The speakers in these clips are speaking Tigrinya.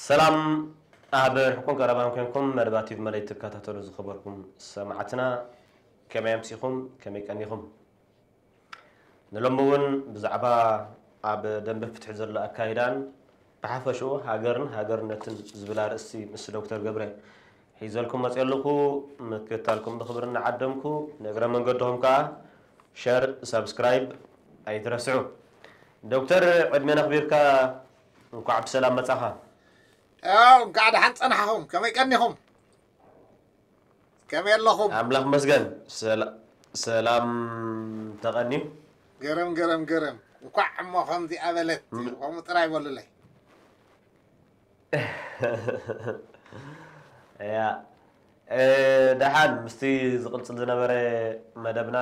ሰላም ኣብ ርሕቁን ቀረባን ኮንኩም መደባት ቲቪ መለይ ትከታተሉ ዝኸበርኩም ሰማዕትና፣ ከመይ ኣምሲኹም? ከመይ ቀኒኹም? ንሎሚ እውን ብዛዕባ ኣብ ደንበ ፍትሒ ዘሎ ኣካይዳን ብሓፈሽኡ ሃገርን ሃገርነትን ዝብል ኣርእስቲ ምስ ዶክተር ገብረ ሒዘልኩም መፅእ ኣለኹ። ምክትታልኩም ብኽብሪ እናዓደምኩ፣ ንእግረ መንገድኹም ከዓ ሸር፣ ሳብስክራይብ ኣይትረስዑ። ዶክተር፣ ዕድሜ ነኽቢርካ እንኳዕ ብሰላም መጻኻ። ያው እንኳዕ ደሓን ጸናሕኹም። ከመይ ቀኒኹም? ከመይ ኣለኹም? ኣምላኽ መስገን። ሰላ- ሰላም ተቐንዩ። ገረም ገረም ገረም። እንኳዕ እሞ ከምዚኣ በለት። ም- ከምኡ ጥራይ በሉለይ። ያ እ፣ ደሓን ምስቲ ዝቕጽል ዝነበረ መደብና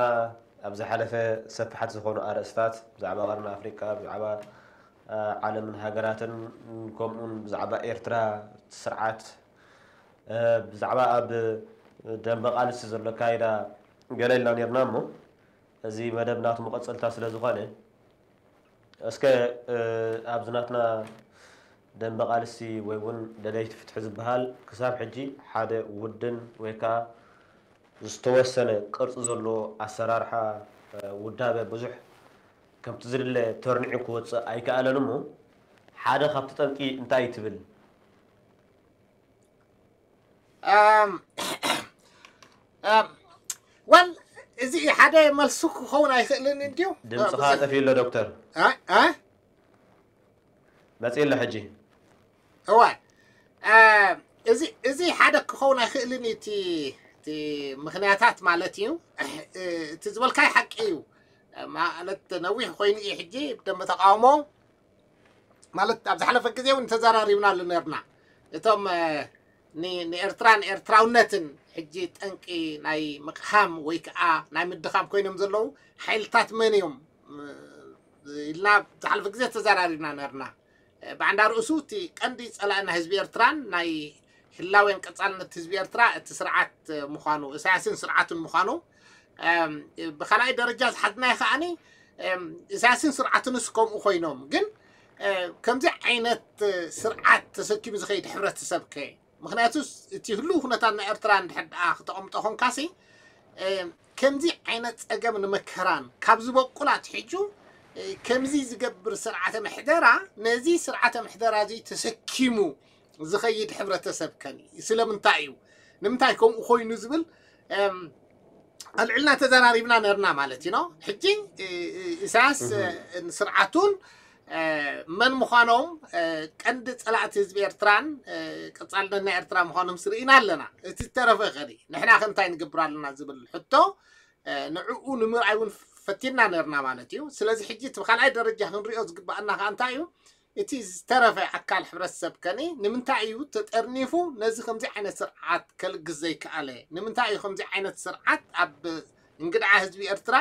ኣብ ዝሓለፈ ሰፍሓት ዝኾኑ ኣርእስታት ብዛዕባ ቀርኒ ኣፍሪቃ፣ ብዛዕባ እ፣ ዓለምን ሃገራትን፣ ከምኡውን ብዛዕባ ኤርትራ ስርዓት፣ እ፣ ብዛዕባ ኣብ ደንበ ቃልሲ ዘሎ ኣካይዳ ገለ ኢልና ነርና እሞ፣ እዚ መደብ ናቱ መቐጸልታ ስለ ዝኾነ፣ እስከ፣ እ፣ ኣብዚ ናትና ደንበ ቃልሲ ወይ እውን ደለይቲ ፍትሒ ዝበሃል ክሳብ ሕጂ ሓደ ውድን ወይ ከዓ ዝተወሰነ ቅርጺ ዘለዎ ኣሰራርሓ፣ እ፣ ውዳበ ብዙሕ ከምቲ ዝድለ ተርኒዑ ክወጽእ ኣይከኣለን እሞ፣ ሓደ ካብቲ ጠንቂ እንታይ ትብል? ኣም፣ ኣም፣ ወል፣ እዚ ሓደ መልሱ ክኸውን ኣይኽእልን እንድዩ። ድምፅኻ ጠፊኡ ኣሎ ዶክተር። እ? እ? መፅእ ኣሎ ሕጂ። እዋ፣ እ፣ እዚ፣ እዚ ሓደ ክኸውን ኣይኽእልን እዩ። እቲ፣ እቲ ምኽንያታት ማለት እዩ። እ፣ እቲ ዝበልካይ ሓቂ እዩ። ማለት ነዊሕ ኮይኑ እዩ ሕጂ ብደንበ ተቃውሞ ማለት ኣብ ዝሓለፈ ግዜ እውን ተዘራሪብናሉ ነርና። እቶም፣ እ፣ ን-፣ ንኤርትራን ኤርትራውነትን ሕጂ ጠንቂ ናይ ምቕሃም ወይ ከዓ ናይ ምድኻም ኮይኖም ዘለዉ ሓይልታት መን እዮም፣ እ፣ ኢልና ዝሓለፈ ግዜ ተዘራሪብና ነርና። እ፣ ብዓንዳ ርእሱ እቲ ቀንዲ ጸላኢ ናይ ህዝቢ ኤርትራን ናይ ህላዌን ቀጻልነት ህዝቢ ኤርትራ እቲ ስርዓት፣ እ፣ ምዃኑ፣ ኢሳያስን ስርዓቱን ምዃኑ፣ እም፣ ብኻልኣይ ደረጃ ዝሓዝናዮ ከዓኒ፣ እም፣ ኢሳያስን ስርዓቱንስ ከምኡ ኮይኖም፣ ግን፣ እ፣ ከምዚ ዓይነት፣ እ፣ ስርዓት ተሰኪሙ ዝኸይድ ሕብረተሰብ ከ? ምኽንያቱ እቲ ህሉው ኩነታት ናይ ኤርትራ እንድሕር ደኣ ክተቐምጦ ኾንካሲ፣ እም፣ ከምዚ ዓይነት ጸገም ንመከራን ካብ ዝበቁል ኣትሒዙ፣ እ፣ ከምዚ ዝገብር ስርዓተ ምሕደራ፣ ነዚ ስርዓተ ምሕደራ እዚ ተሰኪሙ ዝኸይድ ሕብረተሰብ ከን እዩ? ስለምንታይ እዩ? ንምንታይ ከምኡ ኮይኑ ዝብል፣ እም፣ ኣልዕልና ተዘራሪብና ነርና ማለት እዩ፣ ኖ? ሕጂ፣ እ፣ እ፣ ኢሳያስ፣ እህ። እ፣ ስርዓቱን፣ እ፣ መን ምዃኖም፣ እ፣ ቀንዲ ጸላእቲ ህዝቢ ኤርትራን፣ እ፣ ቀጻልነት ናይ ኤርትራ ምዃኖም ስርኢና ኣለና። እቲ ዝተረፈ ከዲ ንሕና ከ እንታይ ንገብር ኣለና ዝብል ሕቶ፣ እ፣ ንዕኡ ንምርኣይ እውን ፈቲና ነርና ማለት እዩ። ስለዚ ሕጂ እቲ ካልኣይ ደረጃ ክንሪኦ ዝግባኣና ከኣ እንታይ እዩ? እቲ ዝተረፈ ኣካል ሕብረተሰብ ከኒ ንምንታይ እዩ ተጠርኒፉ ነዚ ከምዚ ዓይነት ስርዓት ከልግስ ዘይከኣለ? ንምንታይ እዩ ከምዚ ዓይነት ስርዓት ኣብ እንግድዓ ህዝቢ ኤርትራ፣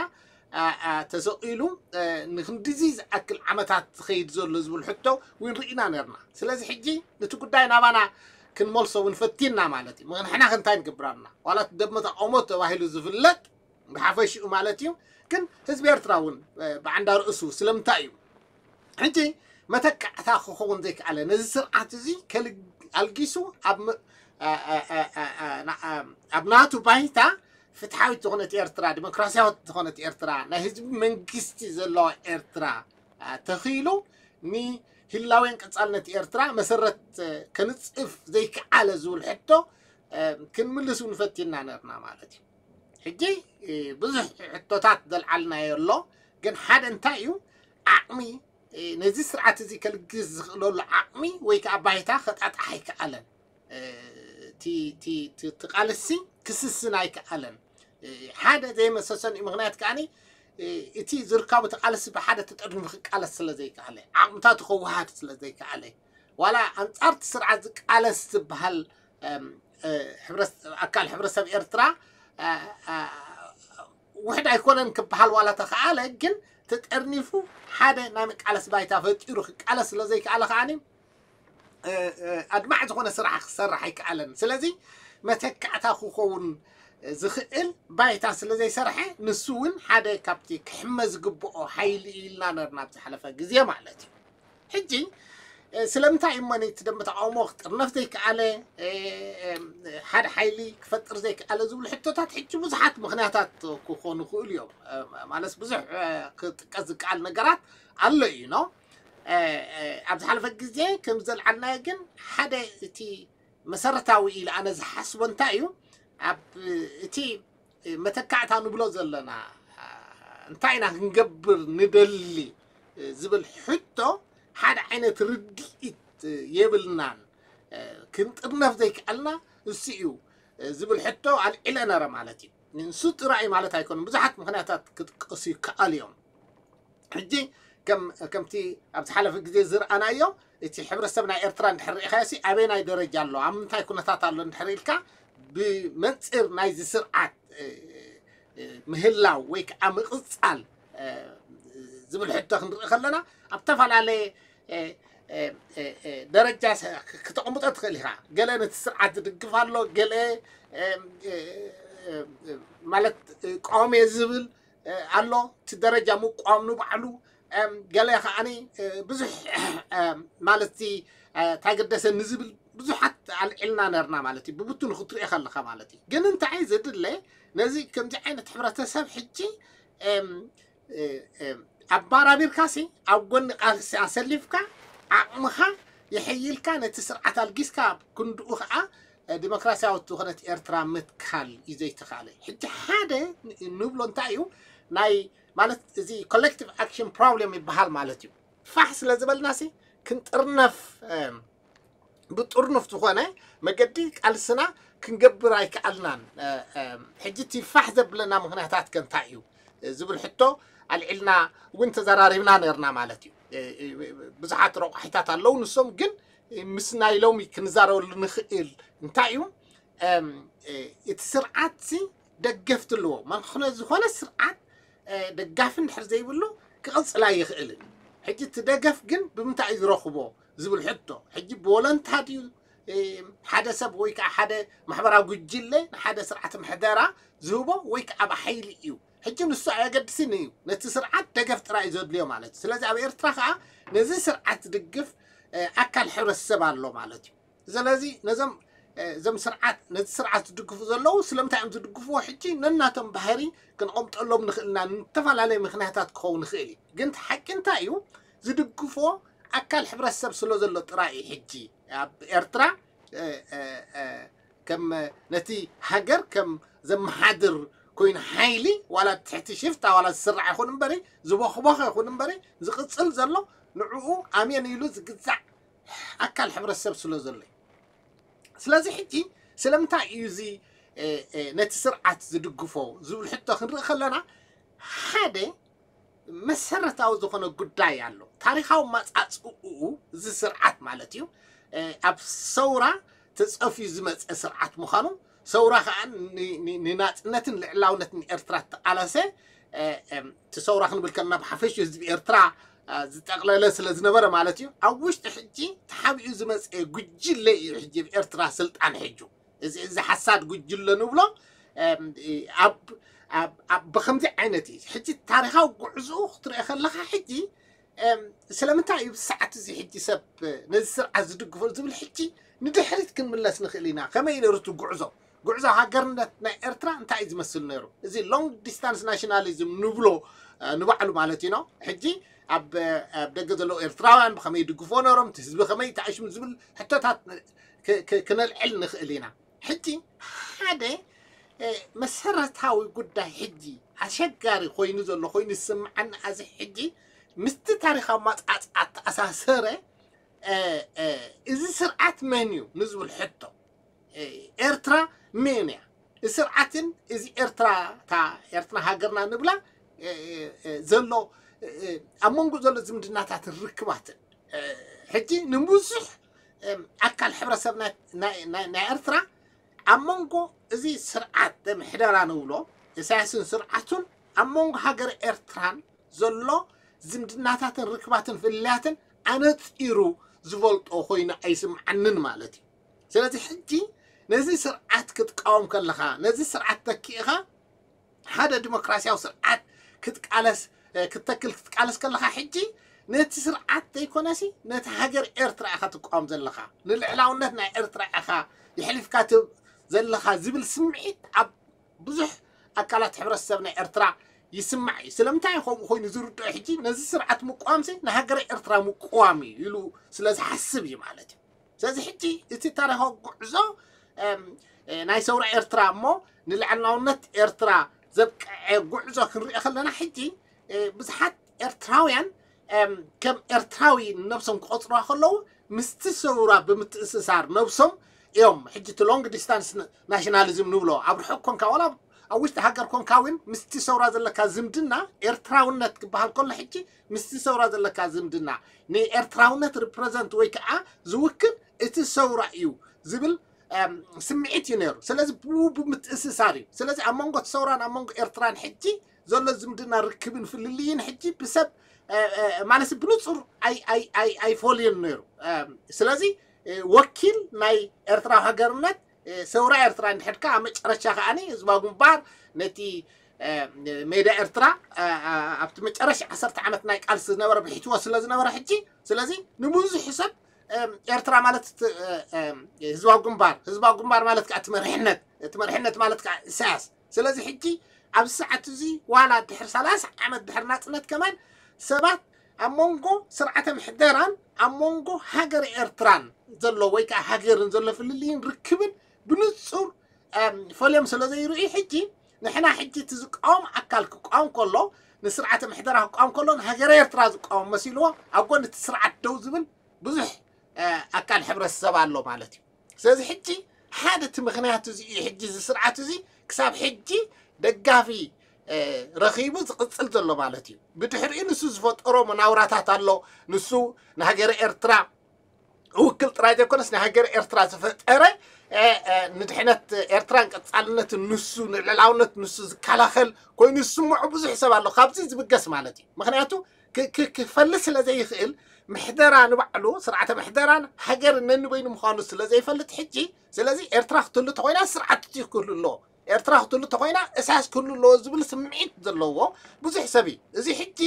ኣ፣ ኣ፣ ተሰቒሉ፣ እ፣ ንክንድዚ ዝኣክል ዓመታት ዝኸይድ ዘሎ ዝብል ሕቶ እውን ርኢና ነርና። ስለዚ ሕጂ ነቲ ጉዳይ ናባና ክንመልሶ እውን ፈቲና ማለት እዩ። ምኽንያቱ ንሕና ከ እንታይ ንገብር ኣለና? ዋላ እቲ ደንበ ተቃውሞ ተባሂሉ ዝፍለጥ ብሓፈሽኡ ማለት እዩ። ግን ህዝቢ ኤርትራ እውን፣ እ፣ ብዓንዳ ርእሱ ስለምንታይ እዩ ሕጂ መተካዕታ ክኸውን ዘይከኣለ? ነዚ ስርዓት እዚ ከልግ-፣ ኣልጊሱ ኣብ ም-፣ ኣ፣ ኣ፣ ኣ፣ ኣ፣ ኣ፣ ና-፣ ኣ፣ ኣብ ናቱ ባይታ ፍትሓዊት ዝኾነት ኤርትራ፣ ዲሞክራሲያዊት ዝኾነት ኤርትራ፣ ናይ ህዝቢ መንግስቲ ዘለዋ ኤርትራ፣ ኣ፣ ተኺሉ ንህላዌን ቀጻልነት ኤርትራ መሰረት፣ እ፣ ከንጽፍ ዘይከኣለ ዝብል ሕቶ፣ እ፣ ክንምልስ እውን ፈቲና ነርና ማለት እዩ። ሕጂ፣ እ፣ ብዙሕ ሕቶታት ዘልዓልናዮ ኣሎ፣ ግን ሓደ እንታይ እዩ ዓቕሚ፣ እ፣ ነዚ ስርዓት እዚ ከልግስ ዝኽእለሉ ዓቕሚ ወይ ከዓ ባይታ ከጣጣሕ ኣይከኣለን። እ፣ እቲ፣ እቲ፣ እቲ፣ እቲ ቃልሲ ክስስን ኣይከኣለን። እ፣ ሓደ ዘይመሰሰን እዩ። ምኽንያት ከዓኒ፣ እ፣ እቲ ዝርካቡ እቲ ቃልሲ ብሓደ ተጠርኒፉ ክቃለስ ስለ ዘይከኣለ፣ ዓቕምታቱ ከወሃድ ስለ ዘይከኣለ፣ ዋላ ኣንጻር እቲ ስርዓት ዝቃለስ ዝበሃል፣ እም፣ እ፣ ሕብረተ-፣ ኣካል ሕብረተሰብ ኤርትራ፣ እ፣ እ፣ ውሕድ ኣይኮነን ክበሃል ዋላ ተኸኣለ፣ ግን ተጠርኒፉ ሓደ ናይ መቃለሲ ባይታ ፈጢሩ ክቃለስ ስለ ዘይከኣለ ከዓኒ፣ እ፣ እ፣ ኣድማዒ ዝኾነ ስራሕ ክሰርሕ ኣይከኣለን። ስለዚ መተካእታ ክኸውን ዝኽእል ባይታ ስለ ዘይሰርሐ፣ ንሱ እውን ሓደ ካብቲ ክሕመ ዝግብኦ ሓይሊ እዩ ኢልና ነርና ኣብ ዝሓለፈ ግዜ ማለት እዩ። ሕጂ ስለምንታይ እዩ እሞ ነቲ ደንበ ተቃውሞ ክጥርነፍ ዘይከኣለ፣ ሓደ ሓይሊ ክፈጥር ዘይከኣለ ዝብሉ ሕቶታት ሕጂ ብዙሓት ምኽንያታት ክኾኑ ይኽእሉ እዮም። ማለት ብዙሕ ክጥቀስ ዝከኣል ነገራት ኣሎ እዩ። ኖ ኣብ ዝሓለፈ ግዜ ከም ዘልዓልናዮ ግን ሓደ እቲ መሰረታዊ ኢለ ኣነ ዝሓስቦ እንታይ እዩ፣ ኣብ እቲ መተካእታ ንብሎ ዘለና እንታይ ኢና ክንገብር ንደሊ ዝብል ሕቶ ሓደ ዓይነት ርድኢት የብልናን። ክንጥርነፍ ዘይከኣልና እሱ እዩ ዝብል ሕቶ ኣልዒለ ነረ ማለት እዩ። ንሱ ጥራይ ማለት ኣይኮነን፣ ብዙሓት ምኽንያታት ክጥቀሱ ይከኣሉ እዮም። ሕጂ ከምቲ ኣብ ዝሓለፈ ግዜ ዝረኣናዮ እቲ ሕብረተሰብ ናይ ኤርትራ እንድሕር ርኢኻዮ ሲ ኣበይ ናይ ደረጃ ኣሎ፣ ኣብ ምንታይ ኩነታት ኣሎ እንድሕር ኢልካ ብመንፅር ናይዚ ስርዓት ምህላው ወይ ከዓ ምቕፃል ዝብል ሕቶ ክንርኢ ከለና ኣብ ዝተፈላለየ ደረጃ ክተቐምጦ ትኽእል ኢኻ። ገለ ነቲ ስርዓት ዝድግፍ ኣሎ፣ ገለ ማለት ቀዋሚ ዝብል ኣሎ። እቲ ደረጃ ምቋም ንባዕሉ ገለ ከዓኒ ብዙሕ ማለት ታገደሰ ንዝብል ብዙሓት ኣልዒልና ነርና ማለት እዩ። ብብትኑ ክትሪኦ ከለኻ ማለት እዩ። ግን እንታይ ዝድለ ነዚ ከምዚ ዓይነት ሕብረተሰብ ሕጂ ኣባራቢርካ ሲ ኣብ ጎኒ ቃልሲ ኣሰሊፍካ ዓቕምኻ የሐይልካ ነቲ ስርዓት ኣልጊስካ ክንድኡ ከዓ ዲሞክራሲያዊት ዝኾነት ኤርትራ ምትካል እዩ ዘይተኻለ። ሕጂ ሓደ ንብሎ እንታይ እዩ ናይ ማለት እዚ ኮሌክቲቭ ኣክሽን ፕሮብሌም ይበሃል ማለት እዩ። ፋሕ ስለ ዝበልና ሲ ክንጥርነፍ ብጥርኑፍ ዝኾነ መገዲ ቃልስና ክንገብር ኣይከኣልናን። ሕጂ እቲ ፋሕ ዘብለና ምኽንያታት ከ እንታይ እዩ ዝብል ሕቶ ኣልዒልና እውን ተዘራሪብና ነርና ማለት እዩ። ብዙሓት ረቋሒታት ኣለዉ። ንሶም ግን ምስ ናይ ሎሚ ክንዛረበሉ ንኽእል እንታይ እዩ እቲ ስርዓት ሲ ደገፍቲ ኣለዎ። ማለት ዝኾነ ስርዓት ደጋፊ እንድሕር ዘይብሉ ክቕፅል ኣይኽእልን። ሕጂ እቲ ደገፍ ግን ብምንታይ እዩ ዝረኽቦ ዝብል ሕቶ ሕጂ ብወለንታ ድዩ ሓደ ሰብ ወይ ከዓ ሓደ ማሕበራዊ ጉጅለ ንሓደ ስርዓት ምሕደራ ዝህቦ ወይ ከዓ ብሓይሊ እዩ። ሕጂ ንሱ ኣየገድስን እዩ። ነቲ ስርዓት ደገፍ ጥራይ እዩ ዘድልዮ ማለት እዩ። ስለዚ ኣብ ኤርትራ ከዓ ነዚ ስርዓት ዝድግፍ ኣካል ሕብረተሰብ ኣሎ ማለት እዩ። ስለዚ ነዞም እዞም ስርዓት ነዚ ስርዓት ዝድግፉ ዘለዉ ስለምንታይ እዮም ዝድግፍዎ? ሕጂ ነናቶም ባህሪ ክንቐምጠሎም ንኽእልና ንተፈላለየ ምኽንያታት ክኸውን ይኽእል እዩ። ግን እቲ ሓቂ እንታይ እዩ? ዝድግፎ ኣካል ሕብረተሰብ ስለ ዘሎ ጥራይ እዩ። ሕጂ ኣብ ኤርትራ ከም ነቲ ሃገር ከም ዘመሓድር ኮይኑ ሓይሊ ዋላ ትሕቲ ሽፍታ ዋላ ዝስራዕ ይኹን እምበሪ ዝቦኽቦኸ ይኹን እምበሪ ዝቕፅል ዘሎ ንዕኡ ኣሜን ኢሉ ዝግዛዕ ኣካል ሕብረተሰብ ስለ ዘሎ እዩ። ስለዚ ሕጂ ስለምንታይ እዩ እዚ ነቲ ስርዓት ዝድግፎ ዝብል ሕቶ ክንርኢ ከለና ሓደ መሰረታዊ ዝኾነ ጉዳይ ኣሎ። ታሪኻዊ መጻጽኡ እዚ ስርዓት ማለት እዩ ኣብ ሰውራ ተጸፍዩ ዝመጸ ስርዓት ምዃኑ ሰውራ ከዓ ንናጽነትን ልዕላውነትን ኤርትራ ተቃለሰ እቲ ሰውራ ክንብል ከለና ብሓፈሽ ህዝቢ ኤርትራ ዝጠቕለለ ስለ ዝነበረ ማለት እዩ። ኣብ ውሽጢ ሕጂ ተሓቢኡ ዝመፀ ጉጅለ እዩ ሕጂ ኣብ ኤርትራ ስልጣን ሕጁ እዚ እዚ ሓሳድ ጉጅለ ንብሎ ብከምዚ ዓይነት እዩ። ሕጂ ታሪካዊ ጉዕዝኡ ክትሪኦ ከለካ ሕጂ ስለምንታይ እዩ ብሰዓት እዚ ሕጂ ሰብ ነዚ ስርዓት ዝድግፎ ዝብል ሕጂ ንድሕሪት ክንምለስ ንኽእል ኢና። ከመይ ነሩ እቲ ጉዕዞ ጉዕዞ ሃገርነት ናይ ኤርትራ እንታይ እዩ ዝመስል ነሩ? እዚ long distance nationalism ንብሎ ንባዕሉ ማለት እዩ። ሕጂ ኣብ ደገ ዘለዉ ኤርትራውያን ብኸመይ ይድግፎ ነሮም፣ እቲ ህዝቢ ከመይ ተኣሽሙ ዝብል ሕቶታት ክነልዕል ንኽእል ኢና። ሕጂ ሓደ መሰረታዊ ጉዳይ ሕጂ ኣሸጋሪ ኮይኑ ዘሎ ኮይኑ ዝስምዓኒ ኣዚ ሕጂ ምስቲ ታሪኻዊ ማጻጻ ተኣሳሰረ እዚ ስርዓት መን እዩ ንዝብል ሕቶ ኤርትራ መን እያ? ስርዓትን እዚ ኤርትራ እታ ኤርትራ ሃገርና ንብላ ዘሎ ኣብ መንጎ ዘሎ ዝምድናታትን ርክባትን ሕጂ ንብዙሕ ኣካል ሕብረተሰብ ናይ ኤርትራ ኣብ መንጎ እዚ ስርዓት ምሕደራ ንብሎ ኢሳያስን ስርዓቱን ኣብ መንጎ ሃገር ኤርትራን ዘሎ ዝምድናታትን ርክባትን ፍልልያትን ኣነጺሩ ዝፈልጦ ኮይኑ ኣይስምዓንን ማለት እዩ። ስለዚ ሕጂ ነዚ ስርዓት ክትቃወም ከለኻ ነዚ ስርዓት ተኪእኻ ሓደ ዲሞክራሲያዊ ስርዓት ክትቃለስ ክትተክል ክትቃለስ ከለኻ ሕጂ ነቲ ስርዓት ዘይኮነሲ ነቲ ሃገር ኤርትራ ኢኻ ትቃወም ዘለኻ፣ ንልዕላውነት ናይ ኤርትራ ኢኻ የሕሊፍካ ትህብ ዘለኻ ዝብል ስምዒት ኣብ ብዙሕ ኣካላት ሕብረተሰብ ናይ ኤርትራ ይስማዕ እዩ። ስለምንታይ እዩ ከምኡ ኮይኑ ዝርድኦ? ሕጂ ነዚ ስርዓት ምቋምሲ ንሃገረ ኤርትራ ምቋም እዩ ኢሉ ስለ ዝሓስብ እዩ ማለት እዩ። ስለዚ ሕጂ እቲ ታሪኻዊ ጉዕዞ ናይ ሰውራ ኤርትራ እሞ ንልዕላውነት ኤርትራ ዘብቅዐ ጉዕዞ ክንሪኦ ከለና ሕጂ ብዙሓት ኤርትራውያን ከም ኤርትራዊ ነብሶም ክቆፅሩዋ ከለዉ ምስቲ ሰውራ ብምትእስሳር ነብሶም እዮም። ሕጂ እቲ long distance nationalism ንብሎ ኣብ ርሑቕ ኮንካ ዋላ ኣብ ውሽጢ ሃገር ኮንካ እውን ምስቲ ሰውራ ዘለካ ዝምድና ኤርትራውነት ክበሃል ከሎ ሕጂ ምስቲ ሰውራ ዘለካ ዝምድና ንኤርትራውነት represent ወይ ከዓ ዝውክል እቲ ሰውራ እዩ ዝብል ስምዒት እዩ ነይሩ። ስለዚ ብኡ ብምትእስሳር እዩ። ስለዚ ኣብ መንጎ እቲ ሰውራን ኣብ መንጎ ኤርትራን ሕጂ ዘሎ ዝምድና ርክብን ፍልልይን ሕጂ ብሰብ ማለት ብንጹር ኣይፈልዮን ነይሩ። ስለዚ ወኪል ናይ ኤርትራዊ ሃገርነት ሰውራ ኤርትራ እንድሕር ከኣ ኣብ መጨረሻ ከኣ ህዝባዊ ግንባር ነቲ ሜዳ ኤርትራ ኣብቲ መጨረሻ ዓሰርተ ዓመት ናይ ቃልሲ ዝነበረ ብሒትዎ ስለ ዝነበረ ሕጂ ስለዚ ንብዙሕ ሰብ ኤርትራ ማለት ህዝባዊ ግንባር ህዝባዊ ግንባር ማለት ከዓ እቲ መሪሕነት እቲ መሪሕነት ማለት ከዓ ኢሳያስ ስለዚ ሕጂ ኣብዚ ሰዓት እዚ ዋላ ድሕሪ ሰላሳ ዓመት ድሕሪ ናፅነት ከማን ሰባት ኣብ መንጎ ስርዓተ ምሕደራን ኣብ መንጎ ሃገር ኤርትራን ዘሎ ወይ ከዓ ሃገርን ዘሎ ፍልልይን ርክብን ብንፁር ፈልዮም ስለ ዘይርእዩ ሕጂ ንሕና ሕጂ እቲ ዝቃወም ኣካል ክቃወም ከሎ ንስርዓተ ምሕደራ ክቃወም ከሎ ንሃገረ ኤርትራ ዝቃወም መሲልዎ ኣብ ጎኒ እቲ ስርዓት ደው ዝብል ብዙሕ ኣካል ሕብረተሰብ ኣሎ ማለት እዩ። ስለዚ ሕጂ ሓደ እቲ ምክንያት እዚ እዩ። ሕጂ እዚ ስርዓት እዚ ክሳብ ሕጂ ደጋፊ ረኺቡ ዝቕፅል ዘሎ ማለት እዩ። ብድሕሪኡ ንሱ ዝፈጠሮ መናውራታት ኣሎ። ንሱ ንሃገረ ኤርትራ ውክል ጥራይ ዘይኮነስ ንሃገረ ኤርትራ ዝፈጠረ ንድሕነት ኤርትራን ቀፃልነትን ንሱ ንልዕላውነት ንሱ ዝከላኸል ኮይኑ ዝስምዖ ብዙሕ ሰብ ኣሎ። ካብዚ ዝብገስ ማለት እዩ። ምክንያቱ ክፈሊ ስለ ዘይኽእል ምሕደራ ንባዕሉ ስርዓተ ምሕደራን ሃገር ነንበይኑ ምዃኑ ስለ ዘይፈልጥ ሕጂ ስለዚ ኤርትራ ክትህሉ ተኮይና ስርዓት ክህሉ ኣለዎ። ኤርትራ ክትህሉ ተኮይና እሳያስ ክህሉ ኣለዎ ዝብል ስምዒት ዘለዎ ብዙሕ ሰብ እዩ። እዚ ሕጂ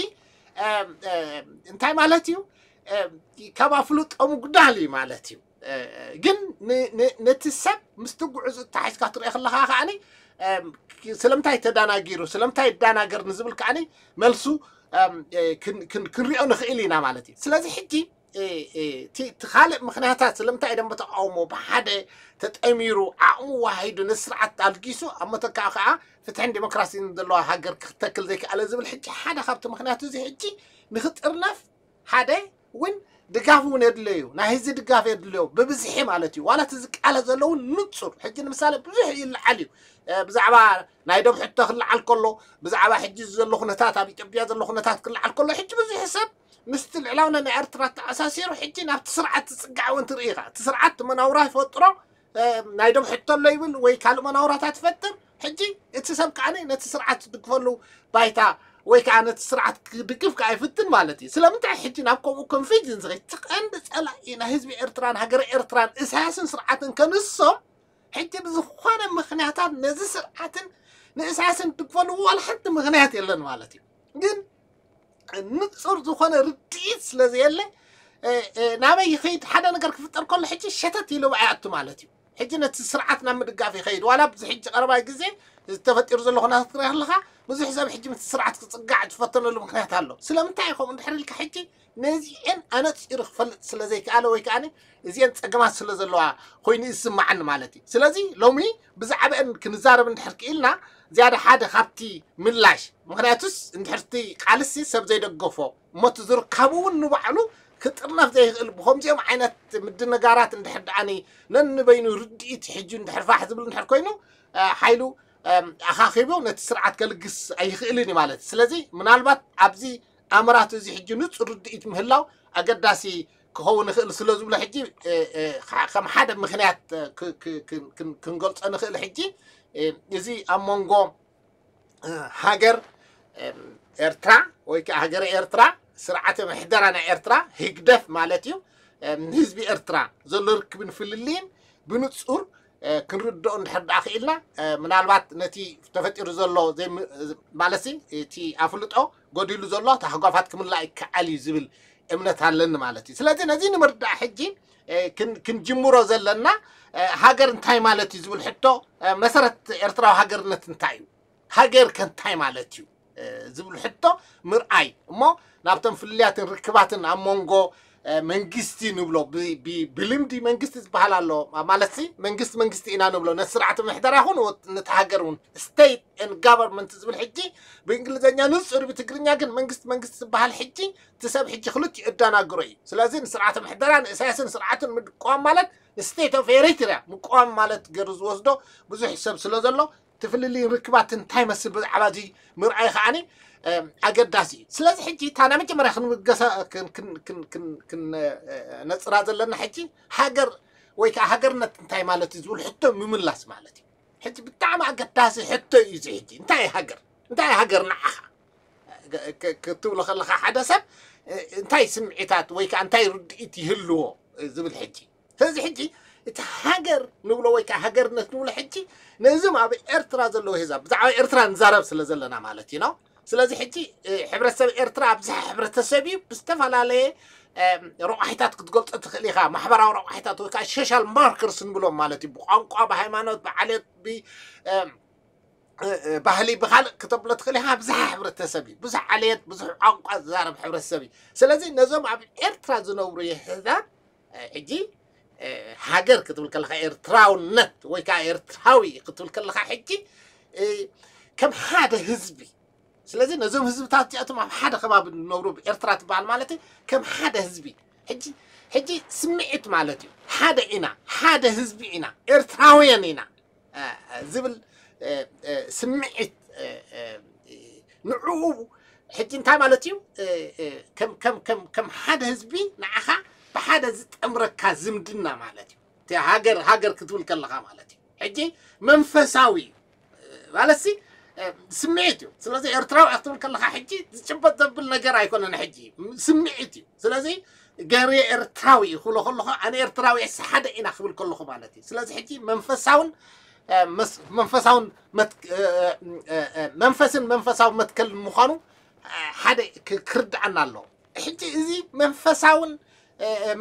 እንታይ ማለት እዩ? ካብ ኣፍልጦ ምጉዳል እዩ ማለት እዩ። ግን ነቲ ሰብ ምስቲ ጉዕዞ ተታሒዝካ ትሪኦ ከለካ ከዓኒ ስለምንታይ ተዳናጊሩ ስለምንታይ ይዳናገር ንዝብል ከዓኒ መልሱ ክንሪኦ ንኽእል ኢና ማለት እዩ። ስለዚ ሕጂ እቲ ካልእ ምክንያታት ስለምንታይ ደንበ ተቃውሞ ብሓደ ተጠሚሩ ዓቕሙ ዋሂዱ ነቲ ስርዓት ኣልጊሱ ኣብ መተካእ ከዓ ፍትሕን ዲሞክራሲን ዘለዋ ሃገር ክተክል ዘይከኣለ ዝብል ሕጂ ሓደ ካብቲ ምክንያቱ እዚ ሕጂ ንክጥርነፍ ሓደ እውን ድጋፍ እውን የድለዩ ናይ ህዝቢ ድጋፍ የድለዮ ብብዝሒ ማለት እዩ። ዋላ እቲ ዝቃለ ዘለውን ንፁር ሕጂ ንምሳሌ ብዙሕ ይለዓል እዩ ብዛዕባ ናይ ደብ ሕቶ ክለዓል ከሎ ብዛዕባ ሕጂ ዘሎ ኩነታት ኣብ ኢትዮጵያ ዘሎ ኩነታት ክለዓል ከሎ ሕጂ ብዙሕ ሰብ ምስቲ ልዕላውነት ናይ ኤርትራ ተኣሳሲሩ ሕጂ ናብቲ ስርዓት ዝፅጋዕ እውን ትርኢ ኢኻ። እቲ ስርዓት መናውራ ይፈጥሮ ናይ ደብ ሕቶ ኣሎ ይብል ወይ ካልእ መናውራታት ይፈጥር። ሕጂ እቲ ሰብ ከዓኒ ነቲ ስርዓት ዝድግፈሉ ባይታ ወይ ከዓ ነቲ ስርዓት ክድግፍ ከዓ ይፍትን ማለት እዩ። ስለምንታይ ሕጂ ናብ ከምኡ ኮንፊውዥን ዝኸይድ እቲ ቀንዲ ፀላኢ ናይ ህዝቢ ኤርትራን ሃገረ ኤርትራን እሳያስን ስርዓትን ከንሶም ሕጂ ብዝኾነ ምክንያታት ነዚ ስርዓትን ንእሳያስን ድግፈሉ ዋላ ሓንቲ ምክንያት የለን ማለት እዩ። ግን ንፁር ዝኾነ ርድኢት ስለ ዘየለ ናበይ ይኸይድ ሓደ ነገር ክፍጠር ከሎ ሕጂ ሸተት ኢሉ ኣይኣቱ ማለት እዩ። ሕጂ ነቲ ስርዓት ናብ ምድጋፍ ይኸይድ ዋላ ኣብዚ ሕጂ ቀረባይ ግዜ ዝተፈጢሩ ዘሎ ኩነታት ክርኢ ከለካ ብዙሕ ሰብ ሕጂ ምስቲ ስርዓት ክፅጋዕ ዝፈተነሉ ምክንያት ኣሎ። ስለምንታይ ከምኡ እንድሕር ኢልካ ሕጂ ነዚአን ኣነፂሩ ክፈልጥ ስለ ዘይከኣለ ወይ ከዓ እዚአን ፀገማት ስለ ዘለዋ ኮይኑ ይስማዓኒ ማለት እዩ። ስለዚ ሎሚ ብዛዕባአን ክንዛረብ እንድሕር ክኢልና ዝያዳ ሓደ ካብቲ ምላሽ ምክንያቱስ እንድሕርቲ ቃልሲ ሰብ ዘይደገፎ እሞ እቲ ዝርካቡ እውን ንባዕሉ ክጥርነፍ ዘይኽእል ብከምዚኦም ዓይነት ምድንጋራት እንድሕር ደኣኒ ነንበይኑ ርድኢት ሕጂ እንድሕር ፋሕ ዝብል እንድሕር ኮይኑ ሓይሉ ኣኻኺቡ ነቲ ስርዓት ከልግስ ኣይኽእልን እዩ ማለት እዩ። ስለዚ ምናልባት ኣብዚ ኣምራት እዚ ሕጂ ንፁር ርድኢት ምህላው ኣገዳሲ ክኸውን ይኽእል ስለ ዝብሎ ሕጂ ከም ሓደ ምክንያት ክንገልፆ ንኽእል። ሕጂ እዚ ኣብ መንጎ ሃገር ኤርትራ ወይ ከዓ ሃገረ ኤርትራ ስርዓተ ምሕደራ ናይ ኤርትራ ህግደፍ ማለት እዩ ንህዝቢ ኤርትራ ዘሎ ርክብን ፍልልይን ብንፁር ክንርድኦ እንድሕር ደኣ ክኢልና፣ ምናልባት ነቲ ተፈጢሩ ዘሎ ማለት እቲ ኣፍልጦ ጎዲሉ ዘሎ ታሕጓፋት ክምላእ ይከኣል እዩ ዝብል እምነት ኣለኒ ማለት እዩ። ስለዚ ነዚ ንምርዳእ ሕጂ ክንጅምሮ ዘለና፣ ሃገር እንታይ ማለት እዩ ዝብል ሕቶ፣ መሰረት ኤርትራዊ ሃገርነት እንታይ እዩ፣ ሃገር ከ እንታይ ማለት እዩ ዝብል ሕቶ ምርኣይ እሞ፣ ናብቶም ፍልልያትን ርክባትን ኣብ መንጎ መንግስቲ ንብሎ፣ ብልምዲ መንግስቲ ዝበሃል ኣሎ ማለት፣ መንግስቲ መንግስቲ ኢና ንብሎ፣ ነቲ ስርዓተ ምሕደራ ይኹን ነቲ ሃገር እውን፣ state and government ዝብል ሕጂ ብእንግሊዝኛ ንጹር፣ ብትግርኛ ግን መንግስቲ መንግስቲ ዝበሃል ሕጂ እቲ ሰብ ሕጂ ክልቲኡ እዳናግሮ እዩ። ስለዚ ንስርዓተ ምሕደራ ንእሳያስን ስርዓቱን ምድቋም ማለት ንስቴት ኦፍ ኤሪትሪያ ምቋም ማለት ገይሩ ዝወስዶ ብዙሕ ሰብ ስለ ዘሎ፣ እቲ ፍልልይ ርክባት እንታይ መስል ብዛዕባ እዚ ምርኣይ ከዓኒ ኣገዳሲ እዩ። ስለዚ ሕጂ እታ ናይ መጀመርያ ክንብገሳ ነፅራ ዘለና ሕጂ ሃገር ወይ ከዓ ሃገርነት እንታይ ማለት እዩ ዝብል ሕቶ ምምላስ ማለት እዩ። ሕጂ ብጣዕሚ ኣገዳሲ ሕቶ እዩ እዚ። ሕጂ እንታይ ሃገር እንታይ ሃገር ንዓኻ ክትብሎ ከለካ ሓደ ሰብ እንታይ ስምዒታት ወይ ከዓ እንታይ ርድኢት ይህልዎ ዝብል ሕጂ። ስለዚ ሕጂ እቲ ሃገር ንብሎ ወይ ከዓ ሃገርነት ንብሎ ሕጂ ነዞም ኣብ ኤርትራ ዘለዉ ህዛብ ብዛዕባ ኤርትራ ንዛረብ ስለ ዘለና ማለት እዩ ነው። ስለዚ ሕጂ ሕብረተሰብ ኤርትራ ኣብዝሓ ሕብረተሰብ እዩ ብዝተፈላለየ ረቋሒታት ክትገልጾ ትኽእል ኢኻ። ማሕበራዊ ረቋሒታት ወይ ከዓ ሶሻል ማርከርስ ንብሎም ማለት እዩ። ብቋንቋ፣ ብሃይማኖት፣ ብዓሌት፣ ብ ባህሊ ብካልእ ክተብሎ ትኽእል ኢኻ። ብዝሕ ሕብረተሰብ እዩ፣ ብዙሕ ዓሌት፣ ብዙሕ ቋንቋ ዝዛረብ ሕብረተሰብ እዩ። ስለዚ ነዞም ኣብ ኤርትራ ዝነብሩ የህዛብ ሕጂ ሃገር ክትብል ከለካ፣ ኤርትራውነት ወይ ከዓ ኤርትራዊ ክትብል ከለካ ሕጂ ከም ሓደ ህዝቢ። ስለዚ ነዞም ህዝብታት እዚኣቶም ኣብ ሓደ ከባቢ ዝነብሩ ኤርትራ ትበሃል ማለት እዩ፣ ከም ሓደ ህዝቢ። ሕጂ ሕጂ ስምዒት ማለት እዩ። ሓደ ኢና፣ ሓደ ህዝቢ ኢና፣ ኤርትራውያን ኢና ዝብል ስምዒት ንዕኡ ሕጂ እንታይ ማለት እዩ? ከም ሓደ ህዝቢ ንዓኻ ብሓደ ዝጠምረካ ዝምድና ማለት እዩ። ሃገር ሃገር ክትብል ከለካ ማለት እዩ። ሕጂ መንፈሳዊ ማለት ሲ ስምዒት እዩ። ስለዚ ኤርትራዊ ክትብል ከለካ ሕጂ ዝጭበጥ ዘብል ነገር ኣይኮነን። ሕጂ ስምዒት እዩ። ስለዚ ገሬ ኤርትራዊ ክብሎ ከለኹ ኣነ ኤርትራዊ ስ ሓደ ኢና ክብል ከለኹ ማለት እዩ። ስለዚ ሕጂ መንፈሳውን መንፈሳውን መንፈስን መንፈሳዊ መትከል ምዃኑ ሓደ ክርድኣና ኣለዎ። ሕጂ እዚ መንፈሳውን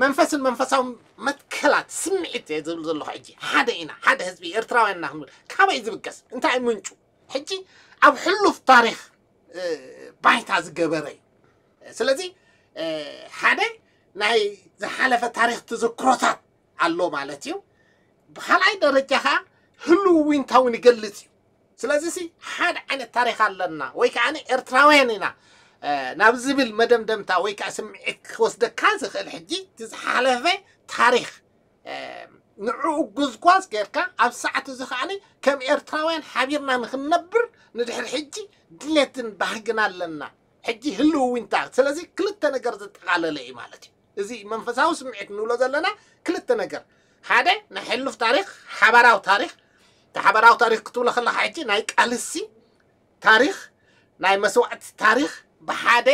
መንፈስን መንፈሳዊ መትከላት ስምዒት ዝብል ዘለኹ ሕጂ ሓደ ኢና፣ ሓደ ህዝቢ ኤርትራውያን ኢና ክንብል ካበይ ዝብገስ እንታይ ምንጩ? ሕጂ ኣብ ሕሉፍ ታሪኽ ባይታ ዝገበረ እዩ። ስለዚ ሓደ ናይ ዝሓለፈ ታሪኽ ተዘክሮታት ኣሎ ማለት እዩ። ብካልኣይ ደረጃ ከዓ ህልው ዊንታ እውን ይገልጽ እዩ። ስለዚ ሲ ሓደ ዓይነት ታሪኽ ኣለና ወይ ከዓ ኤርትራውያን ኢና ናብ ዝብል መደምደምታ ወይ ከዓ ስምዒት ክወስደካ ዝኽእል ሕጂ እቲ ዝሓለፈ ታሪኽ ንዕኡ ጉዝጓዝ ጌርካ ኣብ ሰዓት እዚ ከዓ ከም ኤርትራውያን ሓቢርና ንክንነብር ንድሕሪ ሕጂ ድሌትን ባህግን ኣለና። ሕጂ ህልው ዊንታ ስለዚ ክልተ ነገር ዘጠቓለለ እዩ ማለት እዩ። እዚ መንፈሳዊ ስምዒት ንብሎ ዘለና ክልተ ነገር፣ ሓደ ናይ ሕሉፍ ታሪኽ ሓባራዊ ታሪኽ፣ እቲ ሓባራዊ ታሪኽ ክትብሎ ከለካ ሕጂ ናይ ቃልሲ ታሪኽ ናይ መስዋእቲ ታሪኽ ብሓደ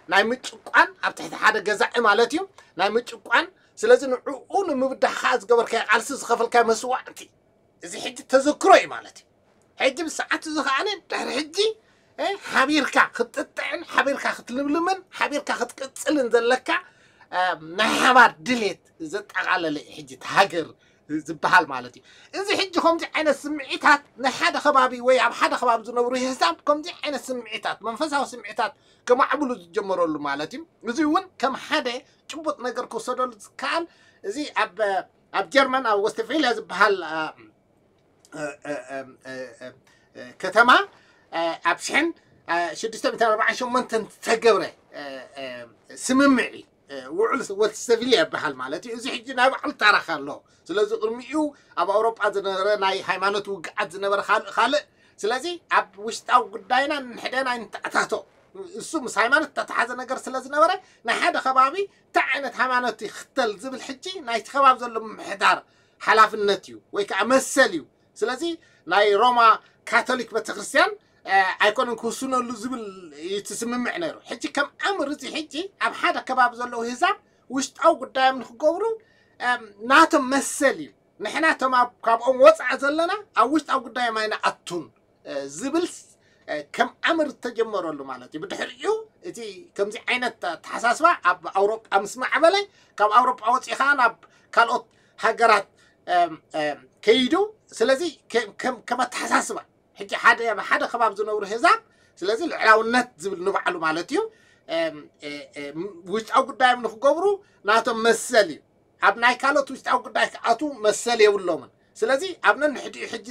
ናይ ምጭቋን ኣብ ትሕቲ ሓደ ገዛኢ ማለት እዩ ናይ ምጭቋን። ስለዚ ንዕኡ ንምብዳህ ከዓ ዝገበርካዮ ቃልሲ ዝኸፈልካዮ መስዋእቲ እዚ ሕጂ ተዘክሮ እዩ ማለት እዩ። ሕጂ ብሰዓት እዚ ከዓ ድሕሪ ሕጂ ሓቢርካ ክትጥጥዕን ሓቢርካ ክትልምልምን ሓቢርካ ክትቅፅልን ዘለካ ናይ ሓባር ድሌት ዘጠቓለለ እዩ ሕጂ እቲ ሃገር ዝበሃል ማለት እዩ። እዚ ሕጂ ከምዚ ዓይነት ስምዒታት ናይ ሓደ ከባቢ ወይ ኣብ ሓደ ከባቢ ዝነብሩ ህዝብታት ከምዚ ዓይነት ስምዒታት መንፈሳዊ ስምዒታት ከማዕብሉ ዝጀመረሉ ማለት እዩ። እዚ እውን ከም ሓደ ጭቡጥ ነገር ክወሰደሉ ዝከኣል እዚ ኣብ ኣብ ጀርመን ኣብ ወስተፌልያ ዝበሃል ከተማ ኣብ ሽሕን ሽዱሽተ ሚእትን ኣርባዓን ሸሞንተን ዝተገብረ ስምምዕ እዩ። ውዕል ወስተፊልያ ይበሃል ማለት እዩ። እዚ ሕጂ ናይ ባዕሉ ታሪኽ ኣሎ። ስለዚ ቅድሚኡ ኣብ ኣውሮጳ ዝነበረ ናይ ሃይማኖት ውግዓት ዝነበረ ካልእ ካልእ። ስለዚ ኣብ ውሽጣዊ ጉዳይና ንሕደና ንተኣታቶ እሱ ምስ ሃይማኖት ዝተተሓዘ ነገር ስለ ዝነበረ ናይ ሓደ ከባቢ እንታይ ዓይነት ሃይማኖት ይኽተል ዝብል ሕጂ ናይቲ ከባቢ ዘሎ ምምሕዳር ሓላፍነት እዩ ወይ ከዓ መሰል እዩ። ስለዚ ናይ ሮማ ካቶሊክ ቤተክርስትያን ኣይኮነን ክውስነሉ ዝብል እዩ እቲ ስምምዕ ነይሩ። ሕጂ ከም ኣምር እዚ ሕጂ ኣብ ሓደ ከባቢ ዘለዉ ህዛብ ውሽጣዊ ጉዳዮም ንክገብሩ ናቶም መሰል እዩ። ንሕና እቶም ኣብ- ካብኦም ወፃኢ ዘለና ኣብ ውሽጣዊ ጉዳዮም ኣይንኣቱን ዝብል ከም ኣምር ተጀመረሉ ማለት እዩ። ብድሕሪኡ እቲ ከምዚ ዓይነት ኣተሓሳስባ ኣብ ኣውሮጳ ምስ ማዕበለ፣ ካብ ኣውሮጳ ወፂኡ ከዓ ናብ ካልኦት ሃገራት ከይዱ። ስለዚ ከም ኣተሓሳስባ ሕጂ ሓደ ሓደ ከባቢ ዝነብሩ ህዛብ፣ ስለዚ ልዕላውነት ዝብል ንባዕሉ ማለት እዩ። ውሽጣዊ ጉዳዮም ንክገብሩ ናቶም መሰል እዩ። ኣብ ናይ ካልኦት ውሽጣዊ ጉዳይ ክኣቱ መሰል የብሎምን። ስለዚ ኣብ ነንሕዲኡ ሕጂ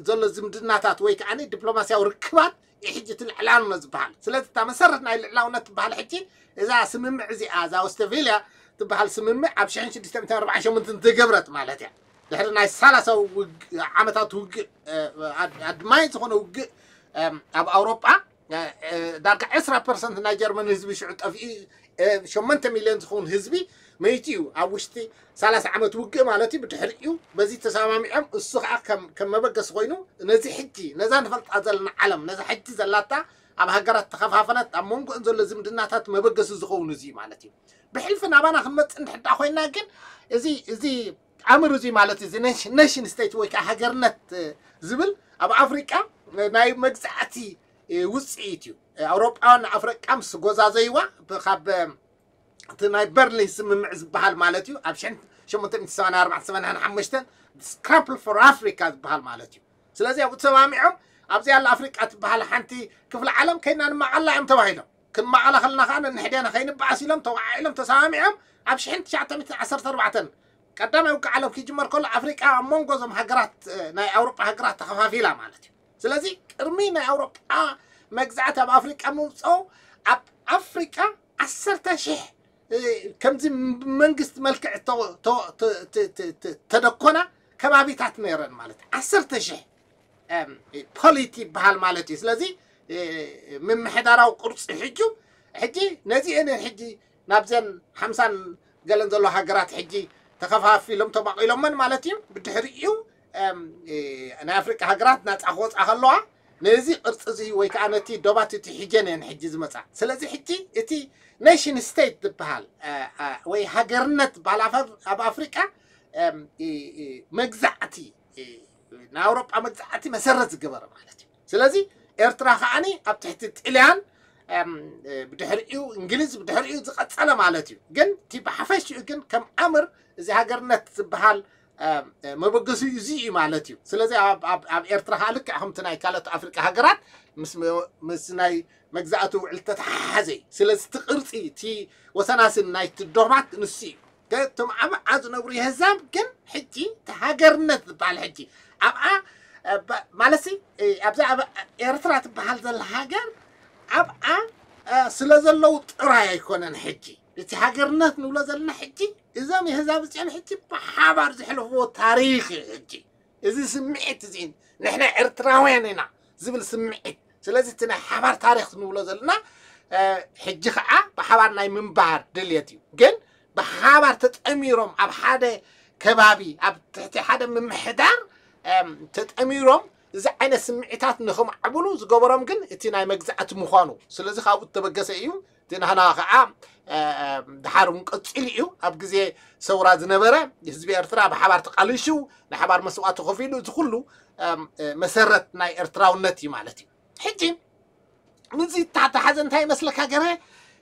ዘሎ ዝምድናታት ወይ ከዓ ዲፕሎማስያዊ ርክባት እዩ ሕጂ እቲ ልዕላውነት ዝበሃል። ስለዚ እታ መሰረት ናይ ልዕላውነት ትበሃል ሕጂ እዛ ስምምዕ እዚኣ፣ እዛ ኦስተቪልያ ትበሃል ስምምዕ ኣብ ሽሕን ሽዱሽተ ሚእትን ኣርባዓን ሸሞንተን ዝገብረት ማለት እያ። ድሕሪ ናይ ሰላሳ ዓመታት ውግእ፣ ኣድማይ ዝኾነ ውግእ ኣብ ኣውሮጳ፣ ዳርጋ ዕስራ ፐርሰንት ናይ ጀርመን ህዝቢ ሽዑ ጠፊኡ፣ ሸሞንተ ሚልዮን ዝኸውን ህዝቢ መይቱ እዩ። ኣብ ውሽጢ ሰላሳ ዓመት ውግእ ማለት እዩ። ብድሕሪኡ በዚ ተሰማሚዖም፣ እሱ ከዓ ከም መበገሲ ኮይኑ ነዚ ሕጂ ነዛ ንፈልጣ ዘለና ዓለም፣ ነዛ ሕጂ ዘላታ ኣብ ሃገራት ተኸፋፈለት ኣብ መንጎን ዘሎ ዝምድናታት መበገሲ ዝኸውን እዚ ማለት እዩ። ብሕልፊ ናባና ክንመፅእ እንድሕዳ ኮይና ግን እዚ እዚ ኣምር እዚ ማለት እዚ ኔሽን ስቴት ወይ ከዓ ሃገርነት ዝብል ኣብ ኣፍሪቃ ናይ መግዛእቲ ውፅኢት እዩ። ኣውሮጳውያን ኣፍሪቃ ምስ ጎዛዘይዋ ካብ እቲ ናይ በርሊን ስምምዕ ዝበሃል ማለት እዩ ኣብ ሸሞንተ ሚእቲ ሰማንያ ኣርባዕተ ሰማንያ ሓሙሽተ ስክራምፕል ፎር ኣፍሪካ ዝበሃል ማለት እዩ። ስለዚ ኣብኡ ተሰማሚዖም ኣብዚ ያለ ኣፍሪቃ ትበሃል ሓንቲ ክፍሊ ዓለም ከይና ንማቐላ እዮም ተባሂሎም። ክንማቐላ ከለና ከዓ ነንሕዴና ከይንበኣስ ኢሎም ተወዓዒሎም ተሰማሚዖም ኣብ ሽሕን ትሽዓተ ሚእትን ዓሰርተ ኣርባዕተን ቀዳማይ ውግእ ዓለም ክጅመር ከሎ ኣፍሪቃ ኣብ መንጎ እዞም ሃገራት ናይ ኣውሮጳ ሃገራት ተኸፋፊላ ማለት እዩ። ስለዚ ቅድሚ ናይ ኣውሮጳ መግዛእቲ ኣብ ኣፍሪቃ ምውፅኦ ኣብ ኣፍሪቃ ዓሰርተ ሽሕ ከምዚ መንግስቲ መልክዕ ተደኮና ከባቢታት ነይረን ማለት ዓሰርተ ሽሕ ፖሊቲ ይበሃል ማለት እዩ። ስለዚ ምምሕዳራዊ ቅርፂ ሕጁ ሕጂ ነዚ እነ ሕጂ ናብዘን ሓምሳን ገለን ዘሎ ሃገራት ሕጂ ተኸፋፊሎም ተማቒሎመን ማለት እዩ። ብድሕሪኡ ናይ ኣፍሪቃ ሃገራት ናፃ ክወፃ ከለዋ ነዚ ቅርፂ እዚ ወይ ከዓ ነቲ ዶባት እቲ ሕጀን እየን ሕጂ ዝመፃ። ስለዚ ሕጂ እቲ ኔሽን ስቴት ዝበሃል ወይ ሃገርነት ዝበሃል ኣብ ኣፍሪቃ መግዛዕቲ ናይ ኣውሮጳ መግዛዕቲ መሰረት ዝገበረ ማለት እዩ። ስለዚ ኤርትራ ከዓኒ ኣብ ትሕቲ ጥልያን ብድሕሪኡ እንግሊዝ ብድሕሪኡ ዝቐጸለ ማለት እዩ። ግን እቲ ብሓፈሽኡ ግን ከም ኣምር እዚ ሃገርነት ዝበሃል መበገሲኡ እዚ እዩ ማለት እዩ። ስለዚ ኣብ ኤርትራ ከዓ ልክዕ ከምቲ ናይ ካልኦት ኣፍሪቃ ሃገራት ምስ ናይ መግዛእቲ ውዕል ተተሓሓዘ እዩ። ስለዚ እቲ ቅርፂ እቲ ወሰናስን ናይቲ ዶባት ንሱ እዩ። እቶም ኣብ ዓዓ ዝነብሩ የህዛብ ግን ሕጂ እቲ ሃገርነት ዝበሃል ሕጂ ኣብኣ ማለትሲ ኣብዛ ኣብ ኤርትራ ትበሃል ዘላ ሃገር ኣብኣ ስለ ዘለዉ ጥራይ ኣይኮነን። ሕጂ እቲ ሃገርነት ንብሎ ዘለና ሕጂ እዞም የህዛብ እዚኦም ሕጂ ብሓባር ዘሕለፍዎ ታሪኽ እዩ። ሕጂ እዚ ስምዒት እዚ ንሕና ኤርትራውያን ኢና ዝብል ስምዒት። ስለዚ እቲ ናይ ሓባር ታሪኽ ንብሎ ዘለና ሕጂ ከዓ ብሓባር ናይ ምንባር ድልየት እዩ። ግን ብሓባር ተጠሚሮም ኣብ ሓደ ከባቢ ኣብ ትሕቲ ሓደ ምምሕዳር ተጠሚሮም እዚ ዓይነት ስምዒታት ንኽማዕብሉ ዝገበሮም ግን እቲ ናይ መግዛእቲ ምዃኑ። ስለዚ ካብኡ እተበገሰ እዩ። እቲ ናህና ከዓ ድሓር እውን ቀፂሉ እዩ። ኣብ ግዜ ሰውራ ዝነበረ ህዝቢ ኤርትራ ብሓባር ተቃሊሹ ናይ ሓባር መስዋእቲ ከፊሉ እዚ ኩሉ መሰረት ናይ ኤርትራውነት እዩ ማለት እዩ። ሕጂ ምዚ ተሓሓዘ እንታይ ይመስለካ ገረ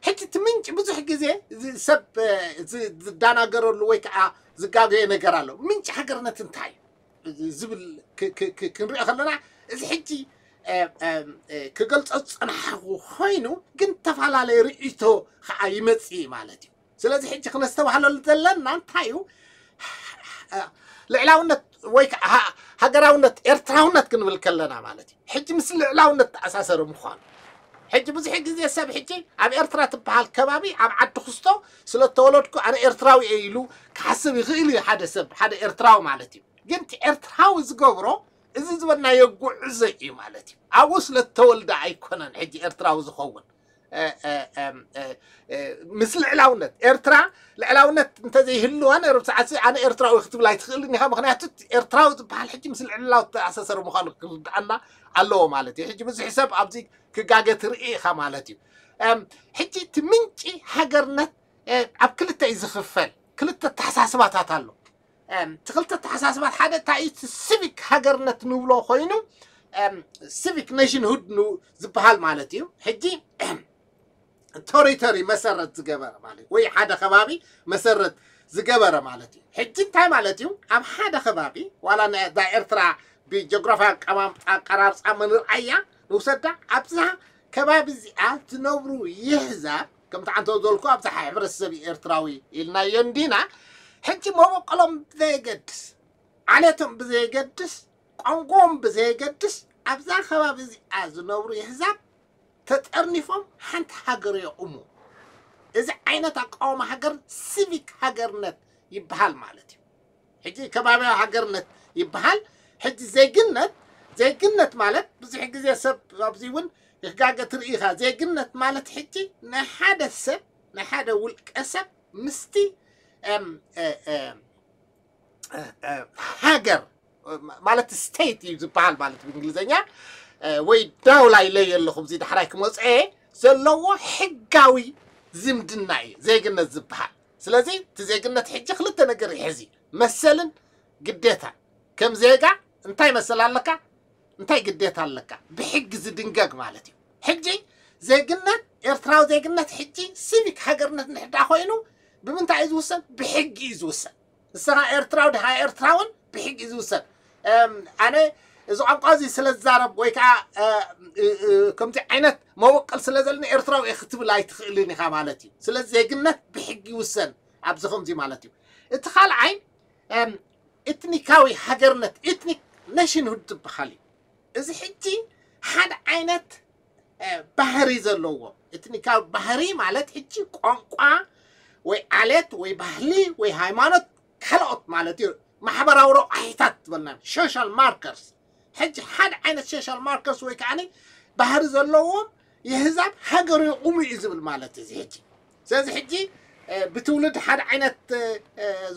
ሕጂ እቲ ምንጭ ብዙሕ ግዜ ሰብ ዝዳናገረሉ ወይ ከዓ ዝጋገየ ነገር ኣሎ። ምንጭ ሃገርነት እንታይ እዩ ዝብል ክንሪኦ ከለና እዚ ሕጂ ክገልፆ ዝፀናሓኩ ኮይኑ ግን ተፈላለየ ርእይቶ ከዓ ይመፅእ ማለት እዩ። ስለዚ ሕጂ ክነስተባህለሉ ዘለና እንታይ እዩ ልዕላውነት ወይ ሃገራውነት ኤርትራውነት ክንብል ከለና ማለት እዩ። ሕጂ ምስ ልዕላውነት ተኣሳሰረ ምዃኑ ሕጂ ብዙሕ ግዜ ሰብ ሕጂ ኣብ ኤርትራ ትበሃል ከባቢ ኣብ ዓዲ ክስቶ ስለተወለድኩ ኣነ ኤርትራዊ እየ ኢሉ ክሓስብ ይኽእል እዩ። ሓደ ሰብ ሓደ ኤርትራዊ ማለት እዩ። ግን እቲ ኤርትራዊ ዝገብሮ እዚ ዝበልናዮ ጉዕዞ እዩ ማለት እዩ። ኣብኡ ስለተወልደ ኣይኮነን ሕጂ ኤርትራዊ ዝኸውን ምስ ልዕላውነት ኤርትራ ልዕላውነት እንተዘይህልዋ ነርብ ሰዓት ኣነ ኤርትራዊ ክትብል ኣይትኽእልን ኢኻ። ምክንያቱ ኤርትራዊ ዝበሃል ሕጂ ምስ ልዕላው ተኣሳሰሩ ምዃኑ ክርድኣና ኣለዎ ማለት እዩ። ሕጂ ብዙሕ ሰብ ኣብዚ ክጋገ ትርኢ ኢኻ ማለት እዩ። ሕጂ እቲ ምንጪ ሃገርነት ኣብ ክልተ እዩ ዝኽፈል። ክልተ ተሓሳስባታት ኣሎ። እቲ ክልተ ኣተሓሳስባት ሓደ እንታይ እዩ? እቲ ሲቪክ ሃገርነት ንብሎ ኮይኑ ሲቪክ ኔሽንሁድ ዝበሃል ማለት እዩ። ሕጂ ቴሪቶሪ መሰረት ዝገበረ ማለት ወይ ሓደ ከባቢ መሰረት ዝገበረ ማለት እዩ። ሕጂ እንታይ ማለት እዩ? ኣብ ሓደ ከባቢ ዋላ እዛ ኤርትራ ብጂኦግራፊ ኣቀራርፃ መንርኣያ ንውሰዳ ኣብዛ ከባቢ እዚኣ ዝነብሩ የህዛብ ከምቲ ዓንተ ዘልኩ ኣብዛ ሕብረተሰብ ኤርትራዊ ኢልናዮ እንዲና። ሕጂ መበቆሎም ብዘየገድስ ዓሌቶም ብዘየገድስ ቋንቋኦም ብዘየገድስ ኣብዛ ከባቢ እዚኣ ዝነብሩ የህዛብ ተጠርኒፎም ሓንቲ ሃገር የቑሙ። እዚ ዓይነት ኣቃውማ ሃገር ሲቪክ ሃገርነት ይበሃል ማለት እዩ። ሕጂ ከባቢያዊ ሃገርነት ይበሃል። ሕጂ ዜግነት ዜግነት ማለት ብዙሕ ግዜ ሰብ ኣብዚ እውን ይጋገ ትርኢ ኢኻ። ዜግነት ማለት ሕጂ ናይ ሓደ ሰብ ናይ ሓደ ውልቀ ሰብ ምስቲ ሃገር ማለት ስቴት እዩ ዝበሃል ማለት ብእንግሊዝኛ ወይ ዳውላ ኢለ የለኹም እዚ ዳሕራይ ክመፅአ ዘለዎ ሕጋዊ ዝምድና እዩ ዜግነት ዝበሃል። ስለዚ እቲ ዜግነት ሕጂ ክልተ ነገር ይሕዚ፣ መሰልን ግዴታን። ከም ዜጋ እንታይ መሰል ኣለካ፣ እንታይ ግዴታ ኣለካ፣ ብሕጊ ዝድንገግ ማለት እዩ። ሕጂ ዜግነት ኤርትራዊ ዜግነት ሕጂ ሲቪክ ሃገርነት እንድሕር ኮይኑ ብምንታይ እዩ ዝውሰን? ብሕጊ እዩ ዝውሰን። ንስኻ ኤርትራዊ ድኻ ኤርትራውን ብሕጊ እዩ ዝውሰን። ኣነ እዚ ቋንቋ እዚ ስለ ዝዛረብ ወይ ከዓ ከምዚ ዓይነት መወቀል ስለ ዘለኒ ኤርትራዊ እየ ክትብል ኣይትኽእልን ኢኻ ማለት እዩ። ስለዚ ዜግነት ብሕጊ ይውሰን ኣብዚ ከምዚ ማለት እዩ። እቲ ካልኣይ ኤትኒካዊ ሃገርነት ኤትኒክ ኔሽንሁድ ዝበሃል እዩ። እዚ ሕጂ ሓደ ዓይነት ባህሪ ዘለዎ ኤትኒካዊ ባህሪ ማለት ሕጂ ቋንቋ ወይ ዓሌት ወይ ባህሊ ወይ ሃይማኖት ካልኦት ማለት እዩ። ማሕበራዊ ረቋሒታት ዝበልና ሶሻል ማርከርስ ሕጂ ሓደ ዓይነት ሶሻል ማርከርስ ወይ ከዓ ባህሪ ዘለዎም የህዛብ ሃገር የቑሙ እዩ ዝብል ማለት እዚ ሕጂ። ስለዚ ሕጂ ብትውልድ ሓደ ዓይነት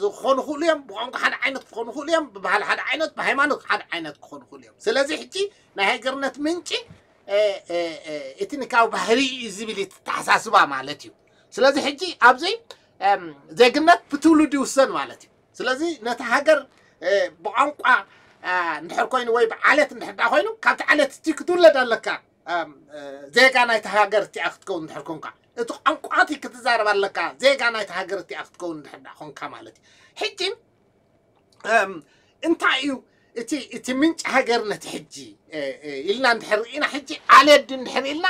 ዝኾኑ ክእሉ እዮም፣ ብቋንቋ ሓደ ዓይነት ክኾኑ ክእሉ እዮም፣ ብባህሊ ሓደ ዓይነት፣ ብሃይማኖት ሓደ ዓይነት ክኾኑ ክእሉ እዮም። ስለዚ ሕጂ ናይ ሃገርነት ምንጪ ኤትኒካዊ ባህሪ እዩ ዝብል እዩ ተሓሳስባ ማለት እዩ። ስለዚ ሕጂ ኣብዚ ዜግነት ብትውልድ ይውሰን ማለት እዩ። ስለዚ ነቲ ሃገር ብቋንቋ እንድሕር ኮይኑ ወይ ብዓሌት እንድሕር ዳ ኮይኑ ካብቲ ዓሌት እቲ ክትውለድ ኣለካ። ዜጋ ናይቲ ሃገር እቲኣ ክትከውን እንድሕር ኮንካ እቲ ቋንቋ እቲ ክትዛረብ ኣለካ። ዜጋ ናይቲ ሃገር እቲኣ ክትከውን እንድሕር ዳ ኮንካ ማለት እዩ። ሕጂ እንታይ እዩ እቲ እቲ ምንጭ ሃገርነት ሕጂ ኢልና እንድሕር ርኢና ሕጂ ዓሌት ድዩ እንድሕር ኢልና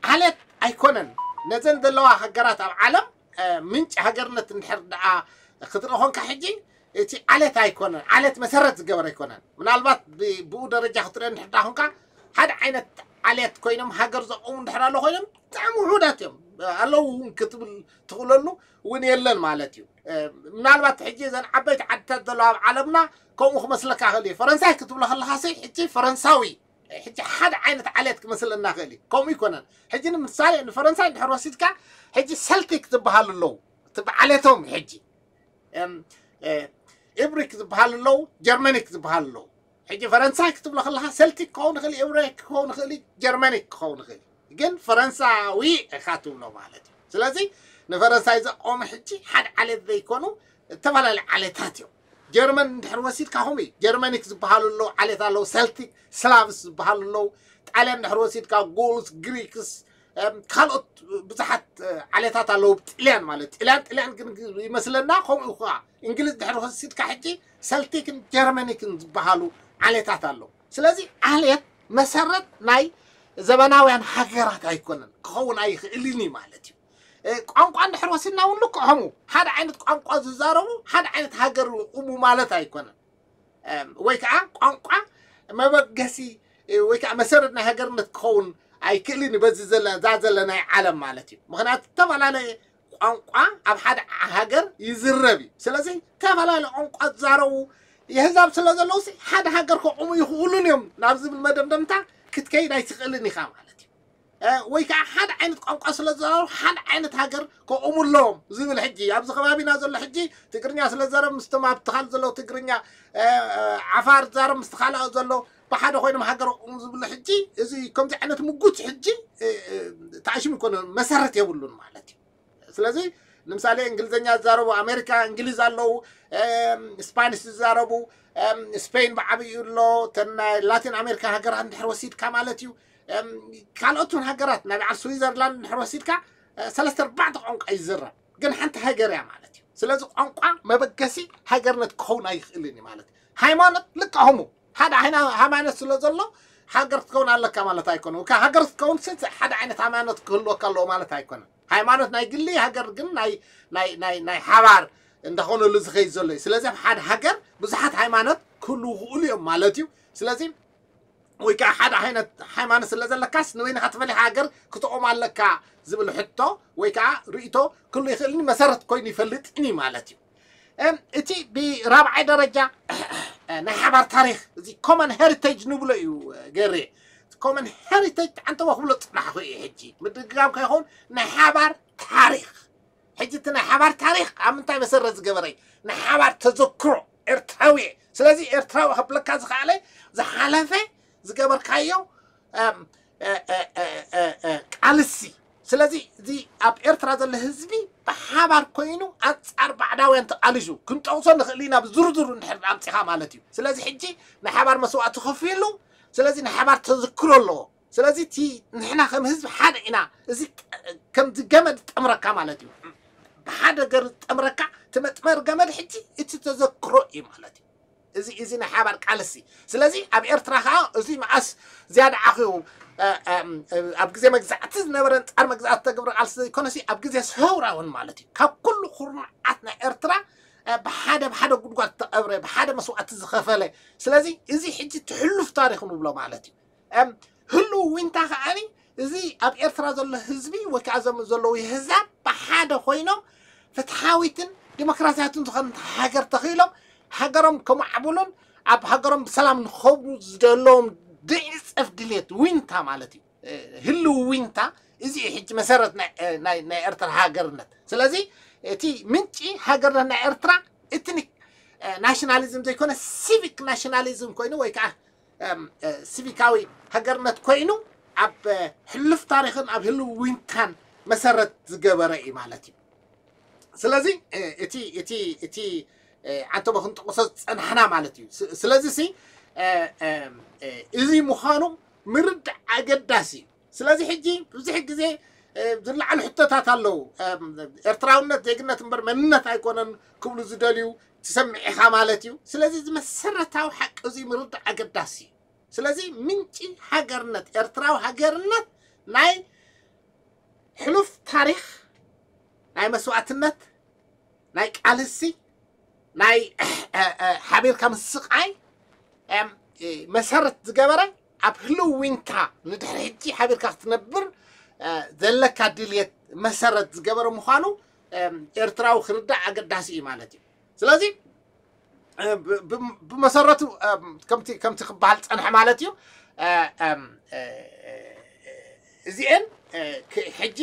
ዓሌት ኣይኮነን። ነዘን ዘለዋ ሃገራት ኣብ ዓለም ምንጭ ሃገርነት እንድሕር ደኣ ክትርኢ ኮንካ ሕጂ እቲ ዓሌት ኣይኮነን፣ ዓሌት መሰረት ዝገበረ ኣይኮነን። ምናልባት ብኡ ደረጃ ክትርኢ እንድሕር ደኣ ኮንካ ሓደ ዓይነት ዓሌት ኮይኖም ሃገር ዘቆሙ እንድሕር ኣሎ ኮይኖም ብጣዕሚ ውሑዳት እዮም። ኣለዉ እውን ክትብል ትኽእለሉ እውን የለን ማለት እዩ። ምናልባት ሕጂ እዘን ዓበይቲ ዓድታት ዘለዋ ኣብ ዓለምና ከምኡ ክመስለካ ክእል እዩ። ፈረንሳይ ክትብሎ ከለኻ ሲ ሕጂ ፈረንሳዊ ሕጂ ሓደ ዓይነት ዓሌት ክመስለና ክእል እዩ። ከምኡ ይኮነን። ሕጂ ንምሳሌ ንፈረንሳይ እንድሕር ወሲድካ ሕጂ ሰልቲክ ዝበሃሉ ኣለዉ። እቲ ብዓሌቶም ሕጂ ኢብሪክ ዝበሃሉ ኣለዉ፣ ጀርመኒክ ዝበሃሉ ኣለዉ። ሕጂ ፈረንሳይ ክትብሎ ከለኻ ሰልቲክ ክኸውን ይኽእል፣ ኢብሪክ ክኸውን ይኽእል፣ ጀርመኒክ ክኸውን ይኽእል። ግን ፈረንሳዊ ኢኻ ትብሎ ማለት እዩ። ስለዚ ንፈረንሳይ ዘቆመ ሕጂ ሓደ ዓሌት ዘይኮኑ ዝተፈላለዩ ዓሌታት እዮም። ጀርመን እንድሕር ወሲድካ ከምኡ እዩ። ጀርመኒክ ዝበሃሉ ኣለዉ፣ ዓሌት ኣለዉ፣ ሰልቲክ ስላቭስ ዝበሃሉ ኣለዉ። ጣልያን እንድሕር ወሲድካ ጎልስ፣ ግሪክስ፣ ካልኦት ብዙሓት ዓሌታት ኣለዉ። ጥልያን ማለት ጥልያን ጥልያን ግን ይመስለና ከምኡ ከዓ እንግሊዝ ድሕሪ ወሲድካ ሕጂ ሰልቲክን ጀርመኒክን ዝበሃሉ ዓሌታት ኣለዉ። ስለዚ ዓሌት መሰረት ናይ ዘበናውያን ሃገራት ኣይኮነን፣ ክኸውን ኣይኽእልን እዩ ማለት እዩ። ቋንቋ እንድሕር ወሲድና እውን ልክዖሙ ሓደ ዓይነት ቋንቋ ዝዛረቡ ሓደ ዓይነት ሃገር ይቑሙ ማለት ኣይኮነን። ወይ ከዓ ቋንቋ መበገሲ ወይ ከዓ መሰረት ናይ ሃገርነት ክኸውን ኣይክእልን እዩ። በዚ ዘለ እዛ ዘለናይ ዓለም ማለት እዩ። ምክንያቱ ዝተፈላለየ ቋንቋ ኣብ ሓደ ሃገር ይዝረብ እዩ። ስለዚ ዝተፈላለየ ቋንቋ ዝዛረቡ የህዛብ ስለ ዘለዉ ሓደ ሃገር ከቑሙ ይኽእሉን እዮም ናብ ዝብል መደምደምታ ክትከይድ ኣይትኽእልን ኢኻ ማለት እዩ። ወይ ከዓ ሓደ ዓይነት ቋንቋ ስለ ዝዛረቡ ሓደ ዓይነት ሃገር ከቑሙ ኣለዎም ዝብል ሕጂ ኣብዚ ከባቢና ዘሎ ሕጂ ትግርኛ ስለ ዝዛረብ ምስቶም ኣብ ትኻል ዘለዉ ትግርኛ ዓፋር ዝዛረብ ምስ ካልኦት ዘሎ ብሓደ ኮይኖም ሃገር ከቑሙ ዝብሉ ሕጂ እዚ ከምዚ ዓይነት ምጉት ሕጂ ተኣሽሙ ይኮነ መሰረት የብሉን ማለት እዩ። ስለዚ ንምሳሌ እንግሊዝኛ ዝዛረቡ ኣሜሪካ እንግሊዝ ኣለዉ፣ ስፓኒሽ ዝዛረቡ ስፔን ብዓብዩ ኣሎ። ተን ናይ ላቲን ኣሜሪካ ሃገራት እንድሕር ወሲድካ ማለት እዩ። ካልኦት እውን ሃገራት ናይ በዓል ስዊዘርላንድ እንድሕር ወሲድካ ሰለስተ ኣርባዕተ ቋንቋ ይዝረብ፣ ግን ሓንቲ ሃገር እያ ማለት እዩ። ስለዚ ቋንቋ መበገሲ ሃገርነት ክኸውን ኣይኽእልን እዩ ማለት እዩ። ሃይማኖት ልክዕኹሙ ሓደ ዓይነት ሃይማኖት ስለ ዘሎ ሃገር ክትከውን ኣለካ ማለት ኣይኮነ። ሃገር ክትከውን ሓደ ዓይነት ሃይማኖት ክህልወካ ኣለዎ ማለት ኣይኮነ። ሃይማኖት ናይ ግሊ፣ ሃገር ግን ናይ ሓባር እንዳኾነሉ ዝኸይድ ዘሎ እዩ። ስለዚ ኣብ ሓደ ሃገር ብዙሓት ሃይማኖት ክህልዉ ይኽእሉ እዮም ማለት እዩ። ስለዚ ወይ ከዓ ሓደ ዓይነት ሃይማኖት ስለ ዘለካስ ንበይንኻ ትፈልኻ ሃገር ክትቆም ኣለካ ዝብል ሕቶ ወይ ከዓ ርእቶ ክህሉ ይኽእልኒ መሰረት ኮይኑ ይፈልጥኒ ማለት እዩ። እቲ ብራብዓይ ደረጃ ናይ ሓባር ታሪኽ፣ እዚ ኮመን ሄሪቴጅ ንብሎ እዩ ገሬ። ኮመን ሄሪቴጅ ተዓንተሞ ክብሎ ፅናሕኩ እዩ። ሕጂ ምድግጋም ከይኸውን ናይ ሓባር ታሪኽ። ሕጂ እቲ ናይ ሓባር ታሪኽ ኣብ ምንታይ መሰረት ዝገበረ እዩ? ናይ ሓባር ተዘክሮ ኤርትራዊ እየ። ስለዚ ኤርትራዊ ከብለካ ዝኸኣለ ዝሓለፈ ዝገበርካዮ ቃልሲ። ስለዚ እዚ ኣብ ኤርትራ ዘሎ ህዝቢ ብሓባር ኮይኑ ኣንጻር ባዕዳውያን ተቃሊሱ ክንጠቕሶ ንኽእል ኢና ብዝርዝሩ እንድሕር ኣምጺኻ ማለት እዩ። ስለዚ ሕጂ ናይ ሓባር መስዋእቲ ከፊሉ፣ ስለዚ ናይ ሓባር ተዝክሮ ኣለዎ። ስለዚ እቲ ንሕና ከም ህዝቢ ሓደ ኢና። እዚ ከምዚ ገመድ ጠምረካ ማለት እዩ። ብሓደ ገር ጠምረካ እቲ መጥመር ገመድ ሕጂ እቲ ተዘክሮ እዩ ማለት እዩ። እዚ እዚ ናይ ሓባር ቃልሲ። ስለዚ ኣብ ኤርትራ ከዓ እዚ መዓስ ዝያዳ ዓኺቡ ኣብ ግዜ መግዛእቲ ዝነበረ ኣንጻር መግዛእቲ ተገብረ ቃልሲ ዘይኮነሲ ኣብ ግዜ ሰውራ እውን ማለት እዩ ካብ ኩሉ ኩርናዓት ናይ ኤርትራ ብሓደ ብሓደ ጉድጓድ ተቐብረ ብሓደ መስዋእቲ ዝኸፈለ። ስለዚ እዚ ሕጂ ትሕሉፍ ታሪኽ ንብሎ ማለት እዩ። ህልው ዊንታ ከዓኒ እዚ ኣብ ኤርትራ ዘሎ ህዝቢ ወይ ከዓ ዘም ዘለዉ የህዛብ ብሓደ ኮይኖም ፍትሓዊትን ዲሞክራሲያትን ዝኾነት ሃገር ተኽኢሎም ሃገሮም ከማዕብሉን ኣብ ሃገሮም ብሰላም ንኸብሩ ዝደለዎም ድዕፀፍ ድሌት ዊንታ ማለት እዩ። ህልው ዊንታ እዚ እዩ ሕጂ መሰረት ናይ ኤርትራ ሃገርነት። ስለዚ እቲ ምንጪ ሃገርነት ናይ ኤርትራ ኤትኒክ ናሽናሊዝም ዘይኮነ ሲቪክ ናሽናሊዝም ኮይኑ ወይ ከዓ ሲቪካዊ ሃገርነት ኮይኑ ኣብ ሕሉፍ ታሪኽን ኣብ ህልው ዊንታን መሰረት ዝገበረ እዩ ማለት እዩ። ስለዚ እቲ እቲ እቲ ዓንተቦ ክንጠቕሶ ዝፀናሕና ማለት እዩ። ስለዚ ሲ እዚ ምዃኑ ምርዳእ ኣገዳሲ እዩ። ስለዚ ሕጂ ብዙሕ ግዜ ዝለዓሉ ሕቶታት ኣለዉ። ኤርትራውነት ዜግነት እምበር መንነት ኣይኮነን ክብሉ ዝደልዩ ትሰምዕ ኢኻ ማለት እዩ። ስለዚ እዚ መሰረታዊ ሓቂ እዚ ምርዳእ ኣገዳሲ እዩ። ስለዚ ምንጪ ሃገርነት፣ ኤርትራዊ ሃገርነት ናይ ሕሉፍ ታሪኽ፣ ናይ መስዋእትነት፣ ናይ ቃልሲ፣ ናይ ሓቢርካ ምስቃይ መሰረት ዝገበረ ኣብ ህልው ዊንታ ንድሕሪ ሕጂ ሓቢርካ ክትነብር ዘለካ ድልየት መሰረት ዝገበረ ምዃኑ ኤርትራዊ ክርዳእ ኣገዳሲ እዩ ማለት እዩ። ስለዚ ብመሰረቱ ከምቲ ክበሃል ፀንሐ ማለት እዩ። እዚአን ሕጂ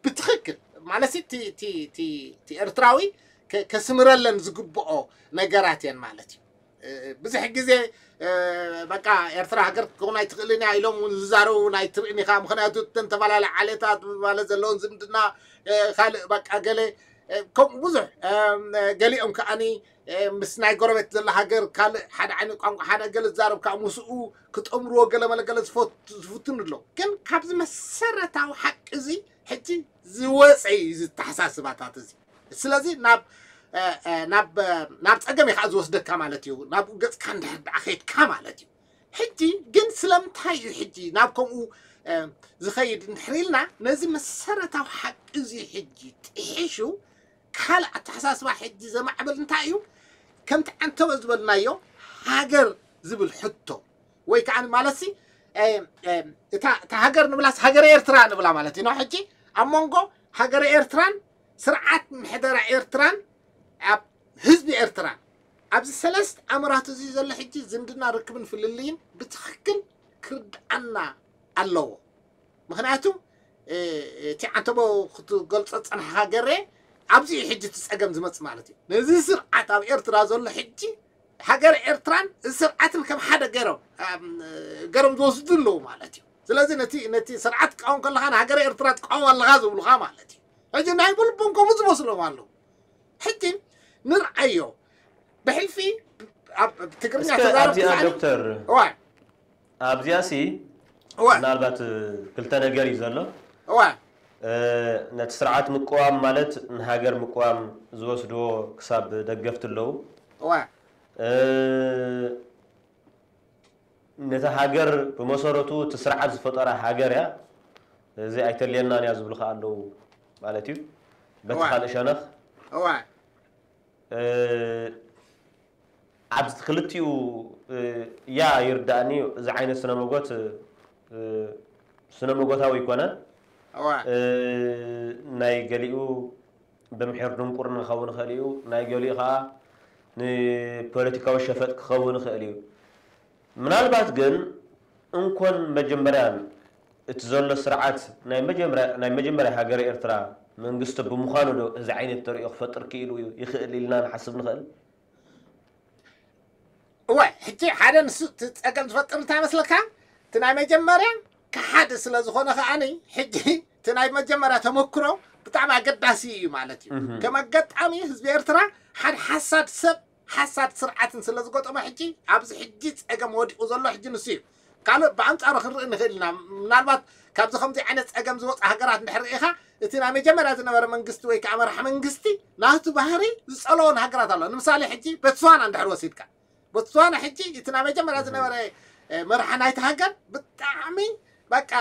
ብትኽክል ማለት ኤርትራዊ ከስምረለን ዝግብኦ ነገራት እየን ማለት እዩ። ብዙሕ ግዜ በቃ ኤርትራ ሃገር ክትከውን ኣይትኽእልን እያ ኢሎም እውን ዝዛረቡ ናይ ትርእን ኢኻ። ምክንያቱ እተን ተፈላለያ ዓሌታት ማለት ዘለውን ዝምድና ካልእ በቃ ገለ ከምኡ ብዙሕ ገሊኦም ከዓኒ ምስ ናይ ጎረቤት ዘላ ሃገር ካልእ ሓደ ዓይነት ቋንቋ ሓደ ገለ ዝዛረብ ከዓ ምስኡ ክጠምርዎ ገለ መለ ገለ ዝፍትን ኣሎ። ግን ካብዚ መሰረታዊ ሓቂ እዚ ሕጂ ዝወፀ እዩ ዝተሓሳስባታት እዚ። ስለዚ ናብ ናብ ናብ ፀገም እዩ ከዓ ዝወስደካ ማለት እዩ። ናብኡ ገፅካ እንድሕር ደኣ ከይድካ ማለት እዩ። ሕጂ ግን ስለምንታይ እዩ ሕጂ ናብ ከምኡ ዝኸይድ እንድሕር ኢልና ነዚ መሰረታዊ ሓቂ እዚ ሕጂ ጥሒሹ ካልእ ኣተሓሳስባ ሕጂ ዘማዕብል እንታይ እዩ? ከምቲ ዓንተበ ዝበልናዮ ሃገር ዝብል ሕቶ ወይ ከዓ ማለትሲ እታ ሃገር ንብላስ ሃገረ ኤርትራ ንብላ ማለት እዩ። ሕጂ ኣብ መንጎ ሃገረ ኤርትራን ስርዓት ምሕደራ ኤርትራን ኣብ ህዝቢ ኤርትራን ኣብዚ ሰለስተ ኣምራት እዚ ዘሎ ሕጂ ዝምድና ርክብን ፍልልይን ብትኽክል ክርድኣና ኣለዎ። ምክንያቱ እቲ ዓንተቦ ክትገልፆ ዝፀናሕካ ገሬ ኣብዚ እዩ ሕጂ እቲ ፀገም ዝመፅእ ማለት እዩ። ነዚ ስርዓት ኣብ ኤርትራ ዘሎ ሕጂ ሃገር ኤርትራን እዚ ስርዓትን ከም ሓደ ገሮም ገሮም ዝወስዱ ኣለዉ ማለት እዩ። ስለዚ ነቲ ነቲ ስርዓት ትቃወም ከለካ ንሃገር ኤርትራ ትቃወም ኣለካ ዝብሉካ ማለት እዩ። ሕጂ ናይ ብልቦም ከምኡ ይመስሎም ኣለዉ። ሕጂ ንርኣዮ። ብሕልፊ ኣብ ትግርኛ እስከ ተዛረብ ኣብዚኣ ትዛኒ ዶክተር እዋ ኣብዚኣ ሲ እዋ ምናልባት ክልተ ነገር እዩ ዘሎ። እዋ እ፣ ነቲ ስርዓት ምቅዋም ማለት ንሃገር ምቅዋም ዝወስድዎ ክሳብ ደገፍቲ ኣለዉ። እዋ ነታ ሃገር ብመሰረቱ እቲ ስርዓት ዝፈጠራ ሃገር እያ፣ እዚ ኣይተልየናን እያ ዝብሉ ከዓ ኣለዉ ማለት እዩ። በቲ እዋ። ካልእ ሸነኽ እዋ ኣብዚ ክልቲኡ ያ ይርዳእኒ። እዚ ዓይነት ስነ መጎት ስነ መጎታዊ ይኮነ። እዋ ናይ ገሊኡ ብምሒር ድንቁርና ክኸውን ይኽእል እዩ፣ ናይ ገሊኡ ከዓ ንፖለቲካዊ ሸፈጥ ክኸውን ይኽእል እዩ። ምናልባት ግን እንኮን መጀመርያን እቲ ዘሎ ስርዓት ናይ መጀመርያ ናይ መጀመርያ ሃገረ ኤርትራ መንግስቲ ብምዃኑ ዶ እዚ ዓይነት ተርእዮ ክፈጥር ክኢሉ እዩ ይኽእል ኢልና ንሓስብ ንኽእል? እወ ሕጂ ሓደ ንሱ እቲ ፀገም ዝፈጥር እንታይ መስለካ? እቲ ናይ መጀመርያ ክሓደ ስለ ዝኾነ ከዓኒ ሕጂ እቲ ናይ መጀመርያ ተመክሮ ብጣዕሚ ኣገዳሲ እዩ ማለት እዩ። ከም ኣጋጣሚ ህዝቢ ኤርትራ ሓደ ሓሳድ ሰብ ሓሳድ ስርዓትን ስለ ዝገጠሞ ሕጂ ኣብዚ ሕጂ ፀገም ወዲቑ ዘሎ ሕጂ ንሱ እዩ። ካልእ ብኣንፃሩ ክንርኢ ንኽእል ኢና። ምናልባት ካብዚ ከምዚ ዓይነት ፀገም ዝወፁ ሃገራት እንድሕር ርኢኻ እቲ ናይ መጀመርያ ዝነበረ መንግስቲ ወይ ከዓ መራሒ መንግስቲ ናቱ ባህሪ ዝፀለዎን ሃገራት ኣሎ። ንምሳሌ ሕጂ ቦትስዋና እንድሕር ወሲድካ ቦትስዋና ሕጂ እቲ ናይ መጀመርያ ዝነበረ መርሓ ናይቲ ሃገር ብጣዕሚ በቃ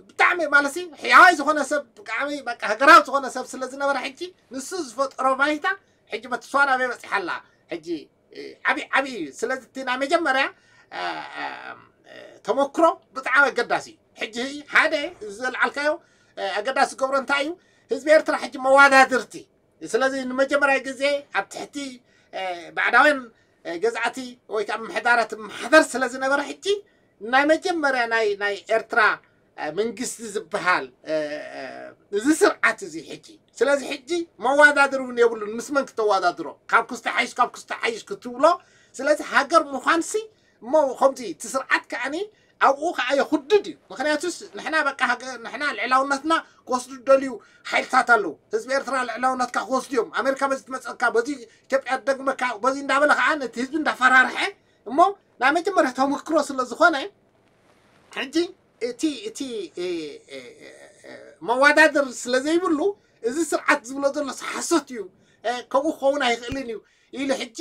ብጣዕሚ ማለት ሕያዋይ ዝኾነ ሰብ ብጣዕሚ በቃ ሃገራዊ ዝኾነ ሰብ ስለ ዝነበረ ሕጂ ንሱ ዝፈጠሮ ባይታ ሕጂ ቦትስዋና ኣበይ በፂሓ ኣላ? ሕጂ ዓብዪ ዓብዪ እዩ። ስለዚ እቲ ናይ መጀመርያ ተመክሮ ብጣዕሚ ኣገዳሲ እዩ። ሕጂ ሓደ እዚ ዘልዓልካዮ ኣገዳሲ ዝገብሮ እንታይ እዩ? ህዝቢ ኤርትራ ሕጂ መዋዳድርቲ ስለዚ ንመጀመርያ ግዜ ኣብ ትሕቲ ባዕዳውያን ገዛእቲ ወይ ከዓ ምምሕዳራት ማሕደር ስለ ዝነበረ ሕጂ ናይ መጀመርያ ናይ ናይ ኤርትራ መንግስቲ ዝበሃል እዚ ስርዓት እዚ ሕጂ ስለዚ ሕጂ መዋዳድር እውን የብሉን። ምስ መን ክተዋዳድሮ? ካብ ክስተ ሓይሽ ካብ ክስተ ሓይሽ ክትብሎ። ስለዚ ሃገር ምዃንሲ እሞ ከምዚ እቲ ስርዓት ከዓኒ ኣብኡ ከዓ የኹድድ እዩ። ምክንያቱስ ንሕና በቃ ንሕና ልዕላውነትና ክወስዱ ደልዩ ሓይልታት ኣለዉ። ህዝቢ ኤርትራ ልዕላውነትካ ክወስዱ እዮም። ኣሜሪካ በዚ ትመፀካ በዚ ኢትዮጵያ ትደግመካ በዚ እንዳበለ ከዓ ነቲ ህዝቢ እንዳፈራርሐ እሞ ናይ መጀመርያ ተመክሮ ስለ ዝኾነ ሕጂ እቲ እቲ መዋዳድር ስለ ዘይብሉ እዚ ስርዓት ዝብሎ ዘሎ ሓሶት እዩ። ከምኡ ክኸውን ኣይኽእልን እዩ ኢሉ ሕጂ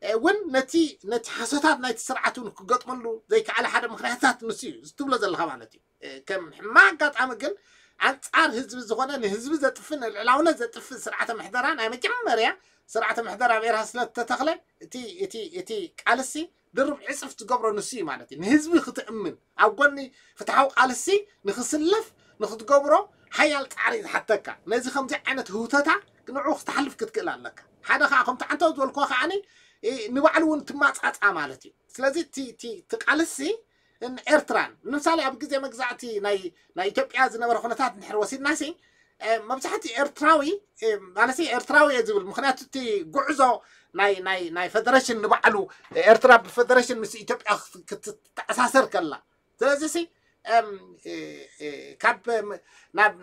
እውን ነቲ ነቲ ሓሶታት ናይቲ ስርዓት እውን ክገጥመሉ ዘይከኣለ ሓደ ምክንያታት ንሱ እዩ ዝትብሎ ዘለካ ማለት እዩ። ከም ሕማቅ ኣጋጣሚ ግን ኣንፃር ህዝቢ ዝኾነ ንህዝቢ ዘጥፍእ ንልዕላውነት ዘጥፍእ ስርዓተ ምሕደራ ናይ መጀመርያ ስርዓተ ምሕደራ ኣብ ኤርትራ ስለ ዝተተኽለ እቲ እቲ እቲ ቃልሲ ድርብ ዕፅፍ ዝገብሮ ንሱ እዩ ማለት እዩ። ንህዝቢ ክትእምን ኣብ ጎኒ ፍትሓዊ ቃልሲ ንክስለፍ ንክትገብሮ ሓያል ፃዕሪ ዝሓተካ ነዚ ከምዚ ዓይነት ህውተታ ንዑ ክትሓልፍ ክትክእል ኣለካ። ሓደ ከዓ ከምቲ ዓንተው ዝበልክዎ ከዓኒ ንባዕሉ እውን ትማፃፃ ማለት እዩ። ስለዚ እቲ ቃልሲ ኤርትራን ንምሳሌ ኣብ ግዜ መግዛእቲ ናይ ናይ ኢትዮጵያ ዝነበረ ኩነታት እንድሕር ወሲድና ሲ መብዛሕቲ ኤርትራዊ ማለት ኤርትራዊ እየ ዝብል ምክንያቱ እቲ ጉዕዞ ናይ ናይ ናይ ፈደረሽን ንባዕሉ ኤርትራ ብፈደረሽን ምስ ኢትዮጵያ ክትተኣሳሰር ከላ ስለዚ ሲ ካብ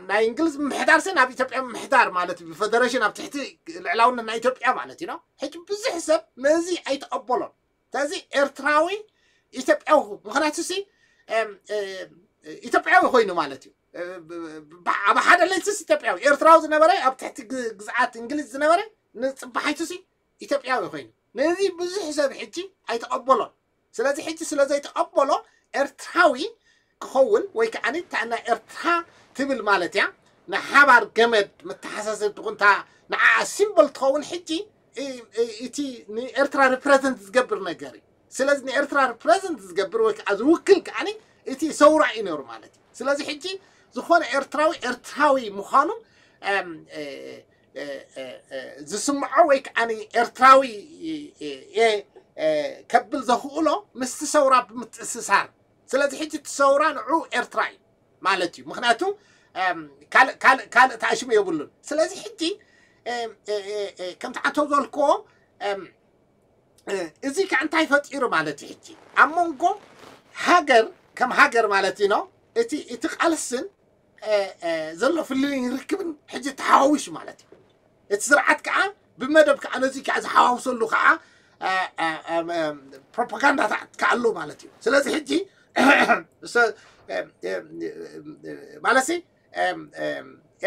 ናይ እንግሊዝ ምምሕዳር ሲ ናብ ኢትዮጵያ ምምሕዳር ማለት ብፈደረሽን ኣብ ትሕቲ ልዕላውነት ናይ ኢትዮጵያ ማለት እዩ። ሕጂ ብዙሕ ሰብ ነዚ ኣይተቐበሎን። ስለዚ ኤርትራዊ ኢትዮጵያዊ ምክንያቱ ሲ ኢትዮጵያዊ ኮይኑ ማለት እዩ። ኣብ ሓደ ለይትስ ኢትዮጵያዊ ኤርትራዊ ዝነበረ ኣብ ትሕቲ ግዝኣት እንግሊዝ ዝነበረ ንፅባሓይቱ ሲ ኢትዮጵያዊ ኮይኑ ነዚ ብዙሕ ሰብ ሕጂ ኣይተቐበሎን። ስለዚ ሕጂ ስለ ዘይተቐበሎ ኤርትራዊ ክኸውን ወይ ከዓ ናይ ኤርትራ ትብል ማለት እያ ንሓባር ገመድ መተሓሳሰብ ትኹንታ ንዓ ሲምቦል ትኸውን ሕጂ እቲ ንኤርትራ ሪፕረዘንት ዝገብር ነገር እዩ። ስለዚ ንኤርትራ ሪፕረዘንት ዝገብር ወይ ከዓ ዝውክል ከዓ እቲ ሰውራ እዩ ነሩ ማለት እዩ። ስለዚ ሕጂ ዝኾነ ኤርትራዊ ኤርትራዊ ምዃኑ ዝስምዖ ወይ ከዓ ኤርትራዊ ከብል ዘኽእሎ ምስቲ ሰውራ ብምትእስሳር ስለዚ ሕጂ እቲ ሰውራ ንዑ ኤርትራ እዩ ማለት እዩ። ምክንያቱ ካልእ ተኣሽሙ የብሉን። ስለዚ ሕጂ ከምቲ ዓንተው ዘልክዎ እዚ ከዓ እንታይ ፈጢሩ ማለት እዩ? ሕጂ ኣብ መንጎ ሃገር ከም ሃገር ማለት እዩ እቲ እቲ ቃልስን ዘሎ ፍልልይን ርክብን ሕጂ ተሓዋዊሱ ማለት እዩ። እቲ ስርዓት ከዓ ብመደብ ከዓ ነዚ ከዓ ዝሓዋውሰሉ ከዓ ፕሮፓጋንዳታት ከዓ ኣሎ ማለት እዩ። ስለዚ ሕጂ ማለትሲ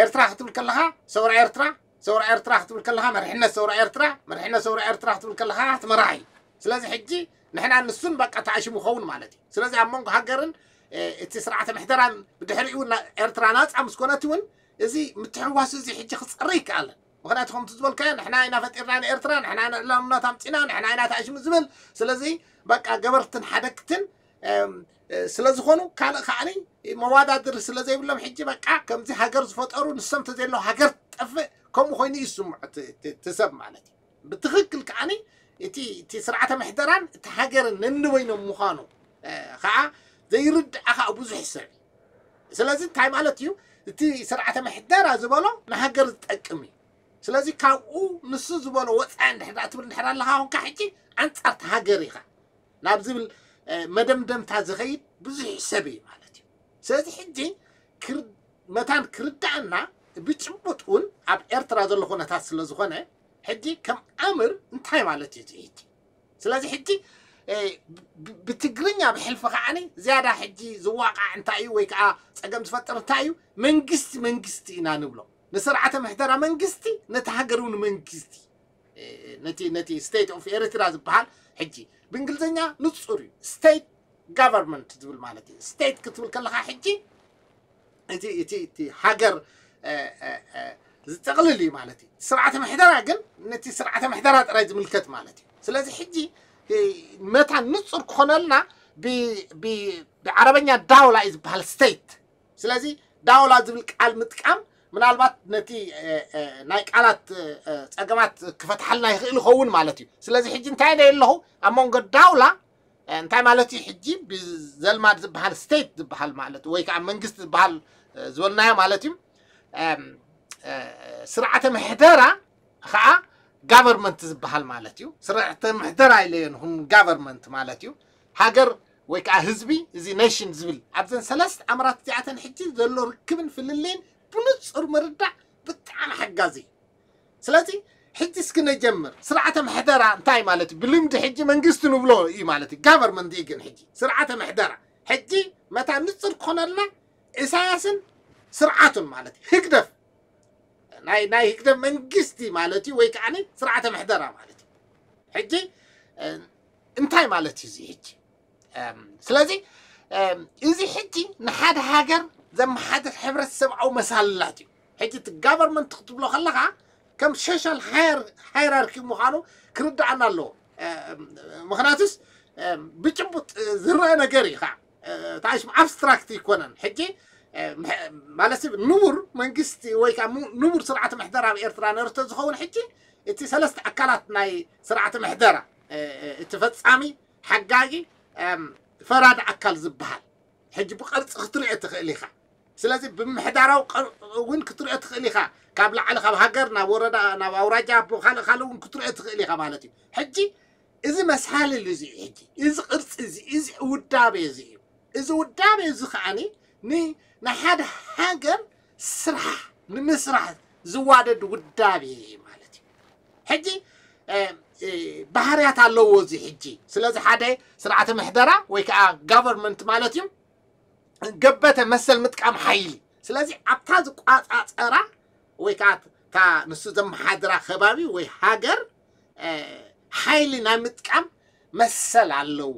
ኤርትራ ክትብል ከለካ ሰውራ ኤርትራ፣ ሰውራ ኤርትራ ክትብል ከለካ መርሕነት ሰውራ ኤርትራ፣ መርሕነት ሰውራ ኤርትራ ክትብል ከለካ እቲ መራሒ። ስለዚ ሕጂ ንሕና ንሱን በቃ ተኣሽሙ ኸውን ማለት እዩ። ስለዚ ኣብ መንጎ ሃገርን እቲ ስርዓተ ምሕደራን ብድሕሪኡ ኤርትራ ናፃ ምስ ኮነት እውን እዚ ምትሕዋስ እዚ ሕጂ ክፀሪ ይከኣለን። ምክንያቱ ከምቲ ዝበልካዮ ንሕና ኢና ፈጢርና ንኤርትራ፣ ንሕና ኢና ልዕላውነት ኣምፂና፣ ንሕና ኢና ተኣሽሙ ዝብል። ስለዚ በቃ ገበርትን ሓደግትን ስለዝኾኑ ካልእ ከዓኒ መዋዳድር ስለዘይብሎም ሕጂ በቃ ከምዚ ሃገር ዝፈጠሩ ንሶም ተዘየለው ሃገር ትጠፍእ ከምኡ ኮይኑ እዩ ዝስምዖ እቲ ሰብ ማለት እዩ። ብትኽክል ከዓኒ እቲ እቲ ስርዓተ ምሕደራን እቲ ሃገርን ነንበይኖም ምዃኑ ከዓ ዘይርድኣ ከዓ ብዙሕ ሰብ እዩ። ስለዚ እንታይ ማለት እዩ? እቲ ስርዓተ ምሕደራ ዝበሎ ንሃገር ዝጠቅም እዩ። ስለዚ ካብኡ ንሱ ዝበሎ ወፃኢ እንድሕር ትብል እንድሕር ኣለካ ኮንካ ሕጂ ኣንፃርቲ ሃገር ኢኻ ናብ ዝብል መደምደምታ ዝኸይድ ብዙሕ ሰብ እዩ ማለት እዩ። ስለዚ ሕጂ መታን ክርዳእና ብጭቡጥ እውን ኣብ ኤርትራ ዘሎ ኩነታት ስለ ዝኾነ ሕጂ ከም ኣምር እንታይ ማለት እዩ ሕጂ? ስለዚ ሕጂ ብትግርኛ ብሕልፊ ከዓኒ ዝያዳ ሕጂ ዝዋቃዕ እንታይ እዩ ወይ ከዓ ፀገም ዝፈጥር እንታይ እዩ? መንግስቲ መንግስቲ ኢና ንብሎ። ንስርዓተ ምሕደራ መንግስቲ፣ ነቲ ሃገር እውን መንግስቲ፣ ነቲ ነቲ state of ኤርትራ ዝበሃል ሕጂ ብእንግሊዝኛ ንፁር እዩ። state government ዝብል ማለት እዩ። state ክትብል ከለካ ሕጂ እቲ እቲ እቲ ሃገር ዝጠቕልል እዩ ማለት እዩ። ስርዓተ ምሕደራ ግን ነቲ ስርዓተ ምሕደራ ጥራይ ዝምልከት ማለት እዩ። ስለዚ ሕጂ መታን ንፁር ክኾነልና ብዓረበኛ ዳውላ እዩ ዝበሃል state። ስለዚ ዳውላ ዝብል ቃል ምጥቃም ምናልባት ነቲ ናይ ቃላት ፀገማት ክፈትሓልና ይኽእል ይኸውን ማለት እዩ። ስለዚ ሕጂ እንታይ ኢለ ኣለኹ? ኣብ መንጎ ዳውላ እንታይ ማለት እዩ? ሕጂ ብዘልማድ ዝበሃል state ዝበሃል ማለት ወይ ከዓ መንግስቲ ዝበሃል ዝበልናዮ ማለት እዩ። ስርዓተ ምሕደራ ከዓ government ዝበሃል ማለት እዩ። ስርዓተ ምሕደራ ኢለዮ ንኹን government ማለት እዩ። ሃገር ወይ ከዓ ህዝቢ እዚ nation ዝብል ኣብዘን ሰለስተ ኣምራት እዚኣተን ሕጂ ዘሎ ርክብን ፍልልይን ብንፁር ምርዳእ ብጣዕሚ ሓጋዚ እዩ። ስለዚ ሕጂ እስኪ ነጀምር። ስርዓተ ምሕደራ እንታይ ማለት እዩ? ብልምዲ ሕጂ መንግስቲ ንብሎ እዩ ማለት እዩ። government እዩ ግን ሕጂ ስርዓተ ምሕደራ ሕጂ መታ ንፁር ክኾነልና ኢሳያስን ስርዓቱን ማለት እዩ። ህግደፍ ናይ ናይ ህግደፍ መንግስቲ ማለት እዩ ወይ ከዓ ስርዓተ ምሕደራ ማለት እዩ። ሕጂ እንታይ ማለት እዩ እዚ ሕጂ? ስለዚ እዚ ሕጂ ንሓደ ሃገር ዘመሓድር ሕብረተሰብኣዊ መሳልላት እዩ። ሕጂ እቲ government ክትብሎ ከለካ ከም social hierarchy ምዃኑ ክርዳኣና ኣለዎ። ምክንያቱስ ብጭቡጥ ዝረአ ነገር እዩ ከዓ ታሽም abstract ይኮነን። ሕጂ ማለት ንቡር መንግስቲ ወይ ከዓ ንቡር ስርዓተ ምሕደራ ኣብ ኤርትራ ነርተ ዝኸውን ሕጂ እቲ ሰለስተ ኣካላት ናይ ስርዓተ ምሕደራ እቲ ፈፃሚ፣ ሓጋጊ፣ ፈራዲ ኣካል ዝበሃል ሕጂ ብቅርፂ ክትሪኦ ትኽእል ኢኻ። ስለዚ ብምሕዳራዊ ቅርፂ እውን ክትሪኦ ትኽእል ኢኻ። ካብ ላዕሊ ካብ ሃገር ናብ ወረዳ ናብ ኣውራጃ ካልእ ካልእ እውን ክትሪኦ ትኽእል ኢኻ ማለት እዩ። ሕጂ እዚ መሳልል እዚ ሕጂ እዚ ቅርፂ እዚ እዚ ውዳቤ እዚ እዩ። እዚ ውዳቤ እዚ ከዓኒ ንሓደ ሃገር ስራሕ ንምስራሕ ዝዋደድ ውዳቤ ማለት እዩ። ሕጂ ባህርያት ኣለዎ እዚ ሕጂ። ስለዚ ሓደ ስርዓተ ምሕደራ ወይ ከዓ government ማለት እዩ ገበተ መሰል ምጥቃም ሓይሊ። ስለዚ ኣብታ ዝቋፃፀራ ወይ ከዓ እታ ንሱ ዘመሓድራ ከባቢ ወይ ሃገር ሓይሊ ናይ ምጥቃም መሰል ኣለዎ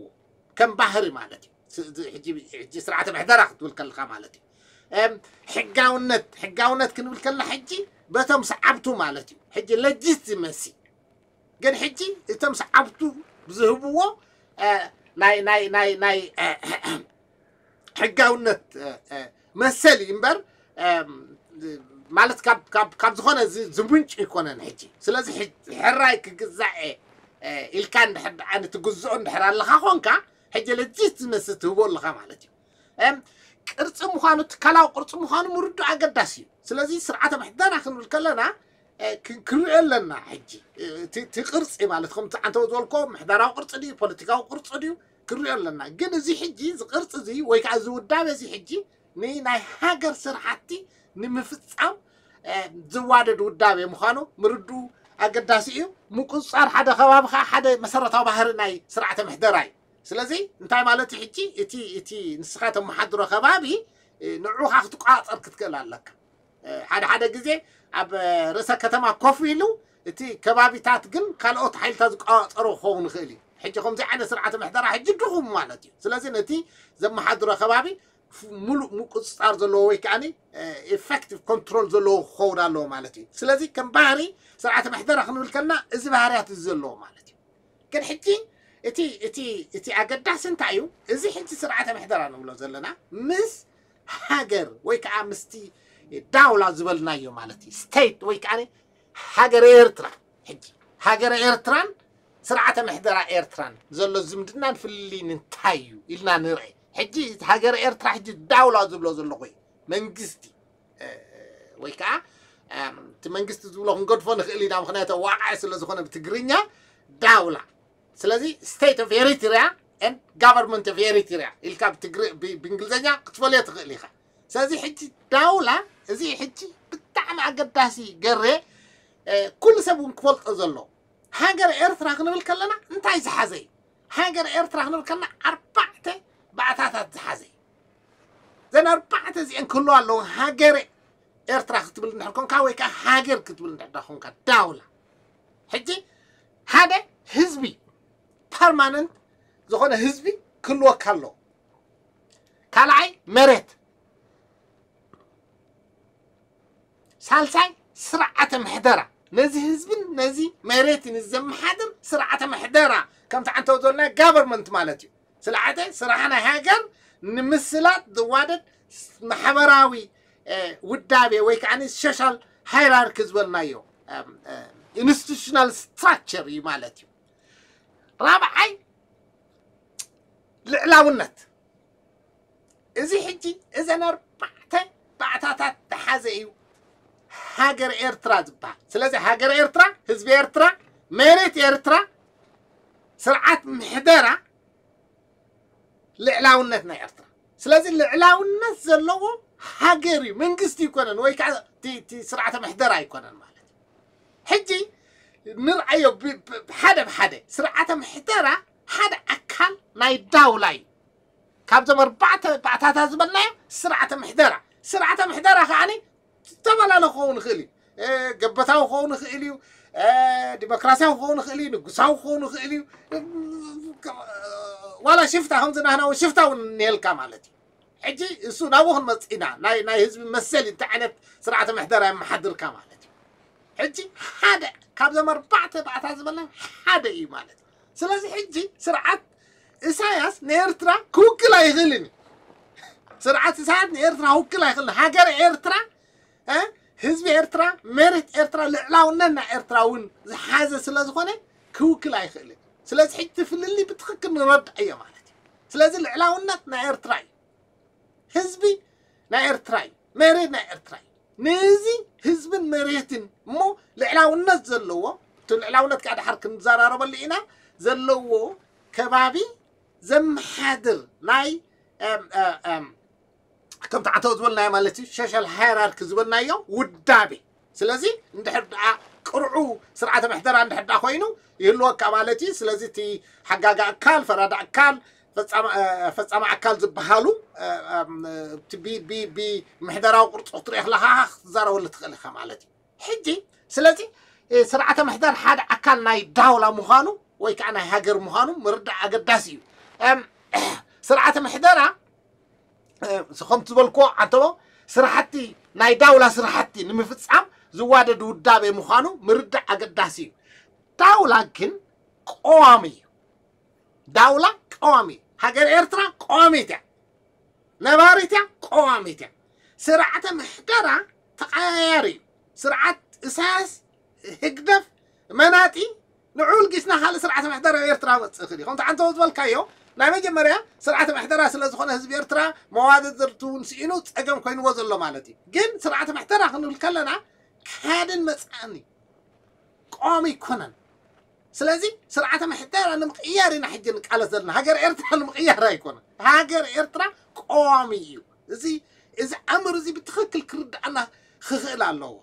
ከም ባህሪ ማለት እዩ። ሕጂ ስርዓተ ምሕደራ ክትብል ከለካ ማለት እዩ። ሕጋውነት ሕጋውነት ክንብል ከለና ሕጂ በቶም ሰዓብቱ ማለት እዩ። ሕጂ legitimacy ግን ሕጂ እቶም ሰዓብቱ ዝህብዎ ናይ ናይ ናይ ናይ ሕጋውነት መሰል እዩ እምበር ማለት ካብ ዝኾነ ዝምንጩ ይኮነን። ሕጂ ስለዚ ሕራይ ክግዛዕ ኢልካ እንድሕር ደኣ ንትግዝኦ እንድሕር ኣለካ ኮንካ ሕጂ legitimacy ትህቦ ኣለካ ማለት እዩ። ቅርፂ ምዃኑ ትካላዊ ቅርፂ ምዃኑ ምርዱ ኣገዳሲ እዩ። ስለዚ ስርዓተ ምሕደራ ክንብል ከለና ክንሪኦ ኣለና። ሕጂ እቲ ቅርፂ ማለት ከምቲ ዓንተው ዝበልኮ ምሕደራዊ ቅርፂ ድዩ ፖለቲካዊ ቅርፂ ድዩ ክንሪኦ ኣለና። ግን እዚ ሕጂ እዚ ቅርፂ እዚ ወይ ከዓ እዚ ውዳቤ እዚ ሕጂ ንናይ ሃገር ስራሕቲ ንምፍጻም ዝዋደድ ውዳቤ ምዃኑ ምርድኡ ኣገዳሲ እዩ። ምቁፅፃር ሓደ ከባቢ ከዓ ሓደ መሰረታዊ ባህሪ ናይ ስርዓተ ምሕደራ እዩ። ስለዚ እንታይ ማለት እዩ? ሕጂ እቲ እቲ ንስኻ ተመሓድሮ ከባቢ ንዑኻ ክትቆፃፀር ክትክእል ኣለካ። ሓደ ሓደ ግዜ ኣብ ርእሰ ከተማ ኮፍ ኢሉ እቲ ከባቢታት ግን ካልኦት ሓይልታት ዝቆፃፀሮ ክኸውን ይኽእል እዩ። ሕጂ ከምዚ ዓይነት ስርዓተ ምሕደራ ሕጂ ድኹም ማለት እዩ። ስለዚ ነቲ ዘመሓድሮ ከባቢ ሙሉእ ምቁፅፃር ዘለዎ ወይ ከዓ effective control ዘለዎ ክኸውን ኣለዎ ማለት እዩ። ስለዚ ከም ባህሪ ስርዓተ ምሕደራ ክንብል ከልና እዚ ባህርያት እዚ ዘለዎ ማለት እዩ። ግን ሕጂ እቲ እቲ እቲ ኣገዳሲ እንታይ እዩ? እዚ ሕጂ ስርዓተ ምሕደራ ንብሎ ዘለና ምስ ሃገር ወይ ከዓ ምስቲ ዳውላ ዝበልናዮ ማለት እዩ። ስቴት ወይ ከዓ ሃገረ ኤርትራ። ሕጂ ሃገረ ኤርትራን ስርዓተ ምሕደራ ኤርትራን ዘሎ ዝምድናን ፍልልይን እንታይ እዩ ኢልና ንርአ። ሕጂ ሃገረ ኤርትራ ሕጂ ዳውላ ዝብሎ ዘለኹ እዩ። መንግስቲ ወይ ከዓ እቲ መንግስቲ ዝብሎ ክንገድፎ ንኽእል ኢና። ምክንያቱ ዋቃዒ ስለ ዝኾነ ብትግርኛ ዳውላ። ስለዚ state of Eritrea and government of Eritrea ኢልካ ብእንግሊዝኛ ክትፈልዮ ትኽእል ኢኻ። ስለዚ ሕጂ ዳውላ እዚ ሕጂ ብጣዕሚ ኣገዳሲ ገሬ ኩሉ ሰብ እውን ክፈልጦ ዘሎ። ሃገር ኤርትራ ክንብል ከለና እንታይ ዝሓዘ እዩ? ሃገር ኤርትራ ክንብል ከለና ኣርባዕተ ባእታታት ዝሓዘ እዩ። ዘን ኣርባዕተ እዚአን ክህልዋ ኣለዎ። ሃገር ኤርትራ ክትብል እንድሕር ኮንካ ወይ ከዓ ሃገር ክትብል እንድሕር ኮንካ ዳውላ። ሕጂ ሓደ ህዝቢ ፐርማነንት ዝኾነ ህዝቢ ክህልወካ ኣለዎ። ካልኣይ መሬት፣ ሳልሳይ ስርዓተ ምሕደራ፣ ነዚ ህዝብን ነዚ መሬትን ዘመሓድር ስርዓተ ምሕደራ ከምቲ ዓንተው ዘለና ጋቨርመንት ማለት እዩ። ስርዓተ ስራሕ ናይ ሃገር ንምስላጥ ዝዋደድ ማሕበራዊ ውዳቤ ወይ ከዓ ሶሻል ሃይራርኪ ዝበልናዮ ኢንስቲቱሽናል ስትራክቸር እዩ ማለት እዩ። ራብዓይ ልዕላውነት። እዚ ሕጂ እዘን ኣርባዕተ ባእታታት ዝሓዘ እዩ ሃገር ኤርትራ ዝበሃል። ስለዚ ሃገር ኤርትራ፣ ህዝቢ ኤርትራ፣ መሬት ኤርትራ፣ ስርዓት ምሕደራ፣ ልዕላውነት ናይ ኤርትራ። ስለዚ ልዕላውነት ዘለዎ ሃገር እዩ፣ መንግስቲ ኣይኮነን ወይ ከዓ እቲ ስርዓተ ምሕደራ ኣይኮነን ማለት እዩ። ሕጂ ንርኣዮ ሓደ ብሓደ። ስርዓተ ምሕደራ ሓደ ኣካል ናይ ዳውላ እዩ። ካብዞም ኣርባዕተ ባእታታት ዝበልናዮ ስርዓተ ምሕደራ። ስርዓተ ምሕደራ ከዓ ዝተፈላለ ክኸውን ይኽእል እዩ። ገበታዊ ክኸውን ይኽእል እዩ፣ ዲሞክራሲያዊ ክኸውን ይኽእል እዩ፣ ንጉሳዊ ክኸውን ይኽእል እዩ። ዋላ ሽፍታ ከምዚ ናህና እውን ሽፍታ እውን እኒሄልካ ማለት እዩ። ሕጂ እሱ ናብኡ ክንመፅእ ኢና። ናይ ህዝቢ መሰል እንታይ ዓይነት ስርዓተ ምሕደራ የመሓድርካ ማለት እዩ። ሕጂ ሓደ ካብዞም ኣርባዕተ ባእታ ዝበልና ሓደ እዩ ማለት እዩ። ስለዚ ሕጂ ስርዓት ኢሳያስ ንኤርትራ ክውክል ኣይኽእልን እዩ። ስርዓት ኢሳያስ ንኤርትራ ክውክል ኣይኽእልን። ሃገር ኤርትራ፣ ህዝቢ ኤርትራ፣ መሬት ኤርትራ፣ ልዕላውነት ናይ ኤርትራ እውን ዝሓዘ ስለ ዝኾነ ክውክል ኣይኽእልን። ስለዚ ሕጂ እቲ ፍልልይ ብትኽክል ንረድኣዮ ማለት እዩ። ስለዚ ልዕላውነት ናይ ኤርትራ እዩ። ህዝቢ ናይ ኤርትራ እዩ፣ መሬት ናይ ኤርትራ እዩ። ነዚ ህዝብን መሬትን እሞ ልዕላውነት ዘለዎ፣ እቲ ልዕላውነት ከዓ ድሓር ክንዘራረበሉ ኢና፣ ዘለዎ ከባቢ ዘመሓድር ናይ ከምቲ ዓተው ዝበልናዮ ማለት እዩ፣ ሶሻል ሃይራርኪ ዝበልናዮ ውዳቤ። ስለዚ እንድሕር ደኣ ቅርዑ ስርዓተ ምሕደራ እንድሕር ደኣ ኮይኑ ይህልወካ ማለት እዩ። ስለዚ እቲ ሓጋጋ ኣካል፣ ፈራዳ ኣካል፣ ፈፃሚ ኣካል ዝበሃሉ ብምሕደራዊ ቅርፂ ክትሪኦ ከለካ ክትዛረበሉ ትኽእል ኢኻ ማለት እዩ። ሕጂ ስለዚ ስርዓተ ምሕደር ሓደ ኣካል ናይ ዳውላ ምዃኑ ወይ ከዓ ናይ ሃገር ምዃኑ ምርዳእ ኣገዳሲ እዩ። ስርዓተ ምሕደራ ከምቲ ዝበልክዎ ዓንተቦ ስራሕቲ ናይ ዳውላ ስራሕቲ ንምፍፃም ዝዋደድ ውዳቤ ምዃኑ ምርዳእ ኣገዳሲ እዩ። ዳውላ ግን ቀዋሚ እዩ። ዳውላ ቀዋሚ፣ ሃገር ኤርትራ ቀዋሚት እያ፣ ነባሪት እያ፣ ቀዋሚት እያ። ስርዓተ ምሕደራ ተቐያያሪ እዩ። ስርዓት ኢሳያስ፣ ህግደፍ፣ መናጢ ንዑ ልጊስና ካልእ ስርዓተ ምሕደራ ኤርትራ መፅእ ክእል እዩ። ከምቲ ዓንተቦ ዝበልካዮ ናይ መጀመርያ ስርዓተ ምሕደራ ስለ ዝኾነ ህዝቢ ኤርትራ መዋደድርቱ እውን ስኢኑ ፀገም ኮይንዎ ዘሎ ማለት እዩ። ግን ስርዓተ ምሕደራ ክንብል ከለና ካድን መፅኣኒ ቀዋሚ ኣይኮነን። ስለዚ ስርዓተ ምሕደራ ንምቕያር ኢና ሕጂ ንቃለስ ዘለና። ሃገር ኤርትራ ንምቕያር ኣይኮነን። ሃገር ኤርትራ ቀዋሚ እዩ። እዚ እዚ ኣምር እዚ ብትኽክል ክርድኣና ክኽእል ኣለዎ።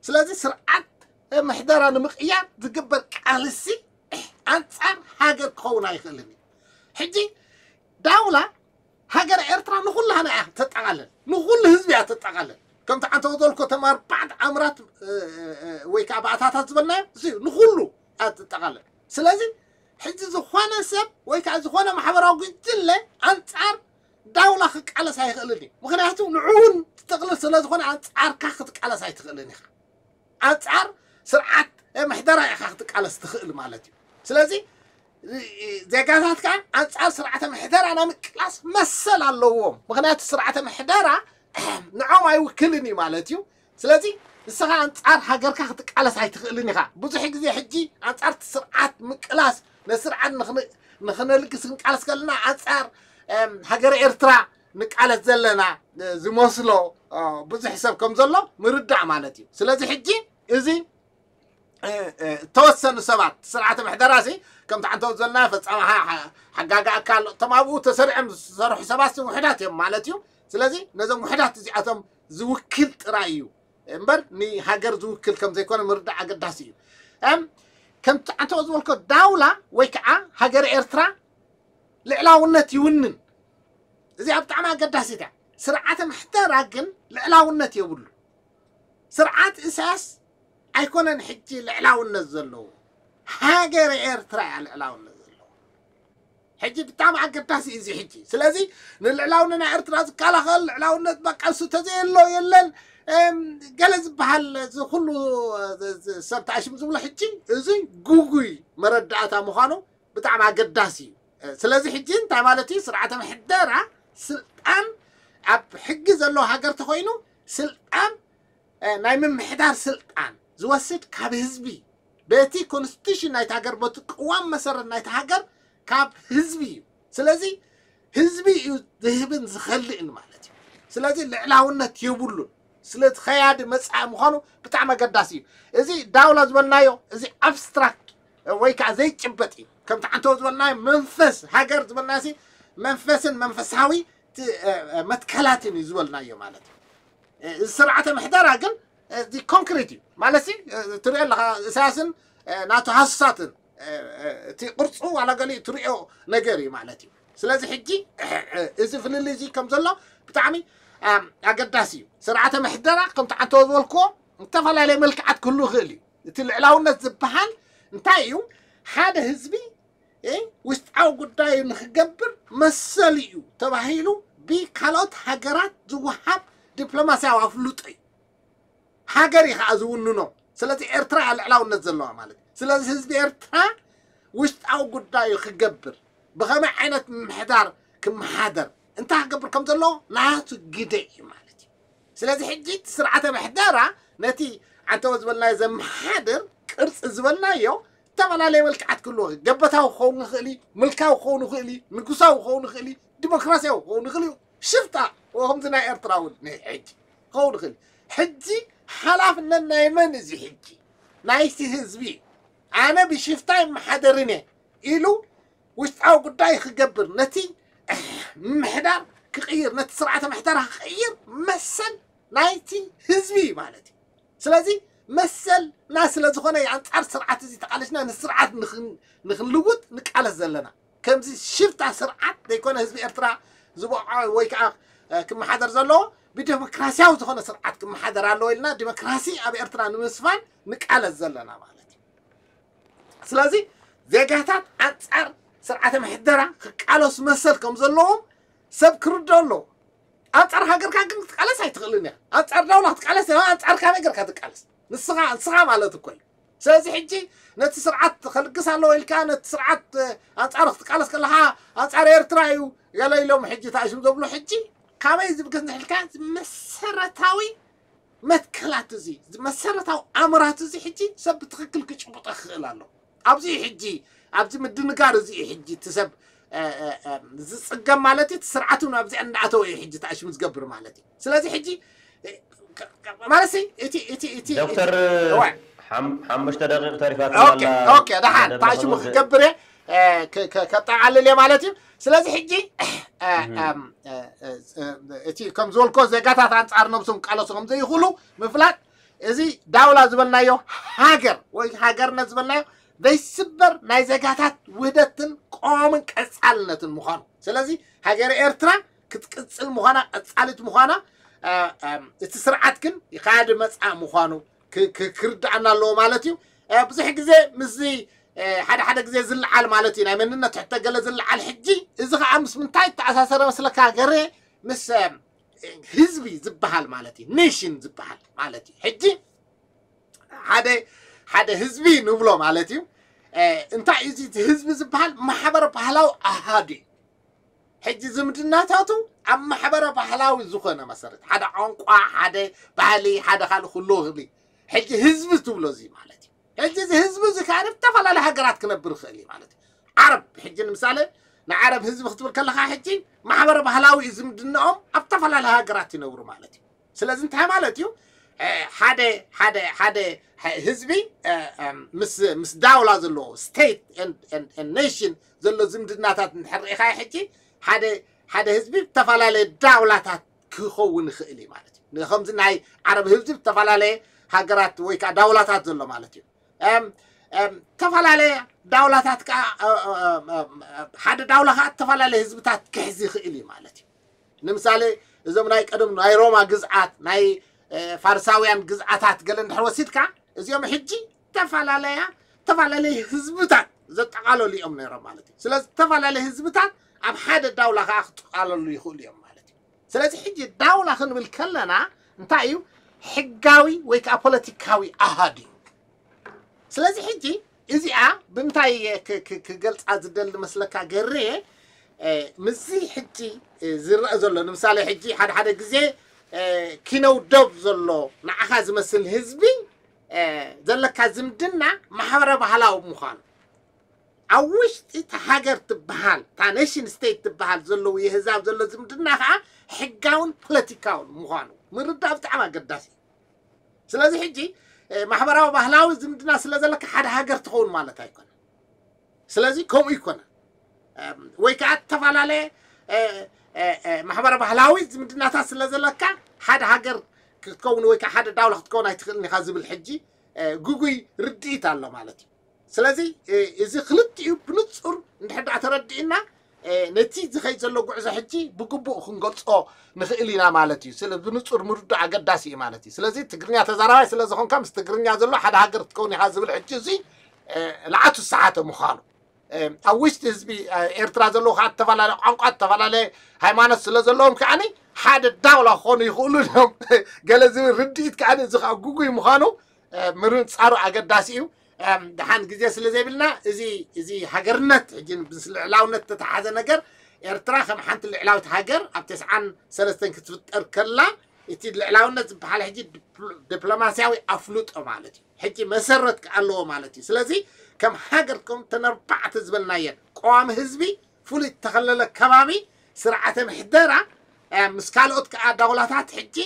ስለዚ ስርዓት ምሕደራ ንምቕያር ዝግበር ቃልሲ ኣንጻር ሃገር ክኸውን ኣይኽእልን እዩ። ሕጂ ዳውላ ሃገር ኤርትራ ንኹላህና እያ ተጠቓልል፣ ንኹሉ ህዝቢ እያ ተጠቓልል። ከምቲ ዓንተ ዝበልኮ ተማር ባዕድ ኣምራት ወይ ከዓ ባእታታት ዝበልናዮ ንኹሉ እያ ተጠቓልል። ስለዚ ሕጂ ዝኾነ ሰብ ወይ ከዓ ዝኾነ ማሕበራዊ ጉጅለ ኣንጻር ዳውላ ክቃለስ ኣይኽእልን እዩ። ምኽንያቱ ንዕውን ትጥቕልል ስለ ዝኾነ ኣንጻርካ ክትቃለስ ኣይትኽእልን ኢኻ። ኣንጻር ስርዓት ምሕደራ ኢኻ ክትቃለስ ትኽእል ማለት እዩ። ስለዚ ዜጋታት ከዓ ኣንጻር ስርዓተ ምሕደራ ናይ ምቅላስ መሰል ኣለዎም። ምኽንያቱ ስርዓተ ምሕደራ ንዖም ኣይውክልን እዩ ማለት እዩ። ስለዚ ንስኻ ኣንጻር ሃገርካ ክትቃለስ ኣይትኽእልን ኢኻ። ብዙሕ ግዜ ሕጂ ኣንጻር ስርዓት ምቅላስ ነስርዓት ንኽነልግስ ክንቃለስ ከለና ኣንጻር ሃገር ኤርትራ ንቃለስ ዘለና ዝመስሎ ብዙሕ ሰብ ከም ዘሎ ምርዳእ ማለት እዩ። ስለዚ ሕጂ እዚ ተወሰኑ ሰባት ስርዓተ ምሕደራ ሲ ከምቲ ዓንተው ዘለና ፈጻሚ ሓጋጋ ኣካል እቶም ኣብኡ ተሰሪዖም ዝሰርሑ ሰባት ውሕዳት እዮም ማለት እዩ። ስለዚ ነዞም ውሕዳት እዚኣቶም ዝውክል ጥራይ እዩ እምበር ንሃገር ዝውክል ከም ዘይኮነ ምርዳእ ኣገዳሲ እዩ። ከምቲ ዓንተው ዝበልኮ ዳውላ ወይ ከዓ ሃገር ኤርትራ ልዕላውነት ይውንን። እዚኣ ብጣዕሚ ኣገዳሲት እያ። ስርዓተ ምሕደራ ግን ልዕላውነት የብሉ። ስርዓት ኢሳያስ ኣይኮነን ሕጂ ልዕላውነት ዘለዎ፣ ሃገር ኤርትራ እያ ልዕላውነት ዘለዎ። ሕጂ ብጣዕሚ ኣገዳሲ እዩ እዚ ሕጂ። ስለዚ ንልዕላውነት ናይ ኤርትራ ዝከላኸል ልዕላውነት በቃ እሱ ተዘየሎ የለን ገለ ዝበሃል እዚ ኩሉ ሰብ ተኣሽም ዝብሎ ሕጂ እዚ ጉጉይ መረዳእታ ምዃኑ ብጣዕሚ ኣገዳሲ እዩ። ስለዚ ሕጂ እንታይ ማለት እዩ? ስርዓተ ምሕደራ ስልጣን ኣብ ሕጊ ዘለዎ ሃገር ተኮይኑ ስልጣን ናይ ምምሕዳር ስልጣን ዝወስድ ካብ ህዝቢ በቲ ኮንስቲቱሽን ናይቲ ሃገር በቲ ቅዋም መሰረት ናይቲ ሃገር ካብ ህዝቢ እዩ። ስለዚ ህዝቢ እዩ ዝህብን ዝኸልእን ማለት እዩ። ስለዚ ልዕላውነት የብሉን። ስለዚ ኸያዲ መጻኢ ምዃኑ ብጣዕሚ ኣገዳሲ እዩ። እዚ ዳውላ ዝበልናዮ እዚ ኣብስትራክት ወይ ከዓ ዘይጭበጥ እዩ። ከምቲ ዓንተው ዝበልናዮ መንፈስ ሃገር ዝበልና ሲ መንፈስን መንፈሳዊ መትከላትን እዩ ዝበልናዮ ማለት እዩ። እዚ ስርዓተ ምሕደራ ግን እዚ ኮንክሪት እዩ ማለት ሲ ትሪኦ ኣለካ። እሳያስን ናቱ ሃሱሳትን እቲ ቅርፁ ዋላ ገሊኡ ትሪኦ ነገር እዩ ማለት እዩ። ስለዚ ሕጂ እዚ ፍልልይ እዚ ከም ዘሎ ብጣዕሚ ኣገዳሲ እዩ። ስርዓተ ምሕደራ ከምቲ ዓንተው ዝበልክዎ ዝተፈላለየ መልክዓት ክህሉ ይኽእል እዩ። እቲ ልዕላውነት ዝበሃል እንታይ እዩ? ሓደ ህዝቢ ውሽጣዊ ጉዳዩ ንክገብር መሰል እዩ ተባሂሉ ብካልኦት ሃገራት ዝወሃብ ዲፕሎማስያዊ ኣፍልጦ እዩ። ሃገር እዩ ከዓ ዝውንኖ። ስለዚ ኤርትራ እያ ልዕላውነት ዘለዋ ማለት እዩ። ስለዚ ህዝቢ ኤርትራ ውሽጣዊ ጉዳዩ ክገብር ብኸመይ ዓይነት ምምሕዳር ክመሓደር እንታይ ክገብር ከም ዘለዎ ናቱ ግደ እዩ ማለት እዩ። ስለዚ ሕጂ እቲ ስርዓተ ምሕደራ ነቲ ዓንተወ ዝበልናዮ ዘመሓድር ቅርፂ ዝበልናዮ ዝተፈላለየ መልክዓት ክህልዎ ገበታዊ ክኸውን ይኽእል እዩ፣ ምልካዊ ክኸውን ይኽእል እዩ፣ ንጉሳዊ ክኸውን ይኽእል እዩ፣ ዲሞክራሲያዊ ክኸውን ይኽእል እዩ። ሽፍታ ከምዚ ናይ ኤርትራ እውን ሕጂ ክኸውን ይኽእል እዩ። ሕጂ ሓላፍነት ናይ መን እዚ ሕጂ? ናይቲ ህዝቢ እዩ። ኣነ ብሽፍታ ይመሓደርን እየ ኢሉ ውሽጣዊ ጉዳይ ክገብር ነቲ ምምሕዳር ክቕይር ነቲ ስርዓተ ምሕደራ ክቕይር መሰል ናይቲ ህዝቢ እዩ ማለት እዩ። ስለዚ መሰልና ስለ ዝኾነ ኣንጻር ስርዓት እዚ ተቓለስና ንስርዓት ንኽንልውጥ ንቃለስ ዘለና። ከምዚ ሽፍታ ስርዓት ዘይኮነ ህዝቢ ኤርትራ ዝበቕዖ ወይ ከዓ ክመሓደር ዘለዎ ብዴሞክራሲያዊ ዝኾነ ስርዓት ክመሓደር ኣለዎ ኢልና ዴሞክራሲ ኣብ ኤርትራ ንምስፋን ንቃለስ ዘለና ማለት እዩ። ስለዚ ዜጋታት ኣንጻር ስርዓተ ምሕደራ ክቃለሱ መሰል ከም ዘለዎም ሰብ ክርዶ ኣለዎ። ኣንጻር ሃገርካ ግን ክትቃለስ ኣይትኽእልን እያ። ኣንጻር ዳውላ ክትቃለስ እያ፣ ኣንጻር ካበይ ገርካ ትቃለስ? ንስኻ ንስኻ ማለት እኮ እዩ። ስለዚ ሕጂ ነቲ ስርዓት ከልግስ ኣለዎ ኢልካ ነቲ ስርዓት ኣንጻር ክትቃለስ ከለኻ ኣንጻር ኤርትራ እዩ ገለ ኢሎም ሕጂ ተኣሽም ዘብሎ ሕጂ ካበይ ዝብገስ ንሕልካ መሰረታዊ መትከላት እዚ መሰረታዊ ኣምራት እዚ ሕጂ ሰብ ብትኽክል ክጭብጦ ክኽእል ኣሎ። ኣብዚ ሕጂ ኣብዚ ምድንጋር እዚ ሕጂ እቲ ሰብ ዝፅገም ማለት እቲ ስርዓት እውን ኣብዚ እንዳኣተወ እዩ ሕጂ ተኣሽሙ ዝገብር ማለት እዩ። ስለዚ ሕጂ ማለት እቲ እቲ እቲ ዶክተር ሓሙሽተ ደቂቕ ተሪፋትና ደሓን ተኣሽሙ ክገብር እየ። እ፣ ከ- ከ- ከጠቓልል እየ ማለት እዩ። ስለዚ ሕጂ እ፣ እም፣ እ፣ እ፣ እ፣ እቲ ከም ዝበልኮ ዜጋታት ኣንጻር ነብሶም ቃለሱ ከም ዘይኽእሉ ምፍላጥ፣ እዚ ዳውላ ዝበልናዮ ሃገር ወይ ሃገርነት ዝበልናዮ ዘይስበር ናይ ዜጋታት ውህደትን ቀዋምን ቀጻልነትን ምዃኑ። ስለዚ ሃገር ኤርትራ ክትቅጽል ምዃና፣ ቀጻሊት ምዃና፣ እ፣ እ፣ እቲ ስርዓት ግን ይኻድ መጻእ ምዃኑ ክ- ክ- ክርድኣና ኣለዎ ማለት እዩ። እ፣ ብዙሕ ግዜ ምስዚ እ፣ ሓደ ሓደ ግዜ ዝለዓል ማለት እዩ፣ ናይ መንነት ሕቶ ገለ ዝለዓል። ሕጂ እዚ ከዓ ምስ ምንታይ ተኣሳሰረ መስለካ ገሬ? ምስ እ፣ ህዝቢ ዝበሃል ማለት እዩ፣ ኔሽን ዝበሃል ማለት እዩ። ሕጂ ሓደ ሓደ ህዝቢ ንብሎ ማለት እዩ። እ፣ እንታይ እዩ እዚ ህዝቢ ዝበሃል? ማሕበረ ባህላዊ ኣሃዱ እዩ። ሕጂ ዝምድናታቱ ኣብ ማሕበረ ባህላዊ ዝኾነ መሰረት፣ ሓደ ቋንቋ፣ ሓደ ባህሊ፣ ሓደ ካልእ ክህልዎ ይኽእል እዩ። ሕጂ ህዝቢ ትብሎ እዚ ማለት እዩ። ሕጂ እዚ ህዝቢ እዚ ከዓ ኣብ ዝተፈላለዩ ሃገራት ክነብር ይኽእል እዩ ማለት እዩ። ዓረብ ሕጂ ንምሳሌ ንዓረብ ህዝቢ ክትብል ከለኻ ሕጂ ማሕበረ ባህላዊ እዩ ዝምድናኦም፣ ኣብ ዝተፈላለዩ ሃገራት ይነብሩ ማለት እዩ። ስለዚ እንታይ ማለት እዩ? እ፣ ሓደ ሓደ ሓደ ሀ- ህዝቢ እ፣ እ፣ ምስ ምስ ዳውላ ዘለዎ ስቴት ኔሽን ዘሎ ዝምድናታት እንድሕር ርኢኻ ሕጂ ሓደ ሓደ ህዝቢ ዝተፈላለየ ዳውላታት ክኸውን ይኽእል እዩ ማለት እዩ። ከምዚ ናይ ዓረብ ህዝቢ ዝተፈላለየ ሃገራት ወይ ከዓ ዳውላታት ዘሎ ማለት እዩ። እም፣ እም፣ ዝተፈላለየ ዳውላታት ከዓ እ፣ እ፣ እ፣ እ፣ ሓደ ዳውላ ከዓ ዝተፈላለየ ህዝብታት ክሕዝ ይኽእል እዩ ማለት እዩ። ንምሳሌ እዞም ናይ ቀደም ናይ ሮማ ግዝኣት፣ ናይ እ፣ ፋርሳውያን ግዝኣታት ገለ እንድሕር ወሲድካ፣ እዚኦም ሕጂ ዝተፈላለያ ዝተፈላለየ ህዝብታት ዘጠቓለሉ እዮም ነይሮም ማለት እዩ። ስለዚ ዝተፈላለየ ህዝብታት ኣብ ሓደ ዳውላ ከዓ ክጠቓለሉ ይኽእሉ እዮም ማለት እዩ። ስለዚ ሕጂ ዳውላ ክንብል ከለና እንታይ እዩ? ሕጋዊ ወይ ከዓ ፖለቲካዊ ኣሃዱ እዩ። ስለዚ ሕጂ እዚኣ ብምንታይ እየ ክ- ክ- ክገልፃ ዝደሊ መስለካ ገሬ? እ፣ ምስዚ ሕጂ እ፣ ዝረአ ዘሎ ንምሳሌ ሕጂ ሓደ ሓደ ግዜ እ፣ ኪነው ደብ ዘሎ ንዓኻ ዝመስል ህዝቢ እ፣ ዘለካ ዝምድና ማሕበረ ባህላዊ ምዃኑ፣ ኣብ ውሽጢ እታ ሃገር ትበሃል እታ ኔሽን ስቴት ትበሃል ዘለዉ የህዛብ ዘሎ ዝምድና ከዓ ሕጋውን ፖለቲካውን ምዃኑ ምርዳእ ብጣዕሚ ኣገዳሲ እዩ። ስለዚ ሕጂ እ፣ ማሕበራዊ ባህላዊ ዝምድና ስለ ዘለካ ሓደ ሃገር ትኸውን ማለት ኣይኮነን። ስለዚ ከምኡ ይኮነ ወይ ከዓ ዝተፈላለየ እ፣ እ፣ እ፣ ማሕበረ ባህላዊ ዝምድናታት ስለ ዘለካ ሓደ ሃገር ክትከውን ወይ ከዓ ሓደ ዳውላ ክትከውን ኣይትኽእልን ኢኻ ዝብል ሕጂ እ፣ ግጉይ ርድኢት ኣሎ ማለት እዩ። ስለዚ እ፣ እዚ ክልቲኡ ብንጹር እንድሕር ደኣ ተረዲእና እ፣ ነቲ ዝኸይድ ዘሎ ጉዕዞ ሕጂ ብግቡእ ክንገልጾ ንኽእል ኢና ማለት እዩ። ስለ ብንጹር ምርዳእ ኣገዳሲ እዩ ማለት እዩ። ስለዚ ትግርኛ ተዛራባይ ስለ ዝኾንካ ምስ ትግርኛ ዘሎ ሓደ ሃገር ክትከውን ኢኻ ዝብል ሕጂ እዚ እ፣ ለዓቱ ዝሰሓተ ምዃኑ እ፣ ኣብ ውሽጢ ህዝቢ እ፣ ኤርትራ ዘለዉ ከዓ ዝተፈላለየ ቋንቋ፣ ዝተፈላለየ ሃይማኖት ስለ ዘለዎም ከዓኒ ሓደ ዳውላ ክኾኑ ይኽእሉ እዮም ገለ ዝብል ርድኢት ከዓኒ እዚ ከዓ ግጉይ ምዃኑ እ፣ ምርንጻሩ ኣገዳሲ እዩ። እም፣ ደሓን ግዜ ስለ ዘይብልና እዚ እዚ ሃገርነት ሕጂ ምስ ልዕላውነት ዝተተሓዘ ነገር ኤርትራ ከም ሓንቲ ልዕላዊት ሃገር ኣብ ተስዓን ሰለስተን ክትፍጠር ከላ እቲ ልዕላውነት ዝበሃል ሕጂ ዲፕሎ- ዲፕሎማስያዊ ኣፍልጦ ማለት እዩ። ሕጂ መሰረት ኣለዎ ማለት እዩ። ስለዚ ከም ሃገር ከም ተነርባዕተ ዝበልናየን ቀዋሚ ህዝቢ ፍሉይ እተኸለለ ከባቢ ስርዓተ ምሕደራ እ፣ ምስ ካልኦት ከዓ ዳውላታት ሕጂ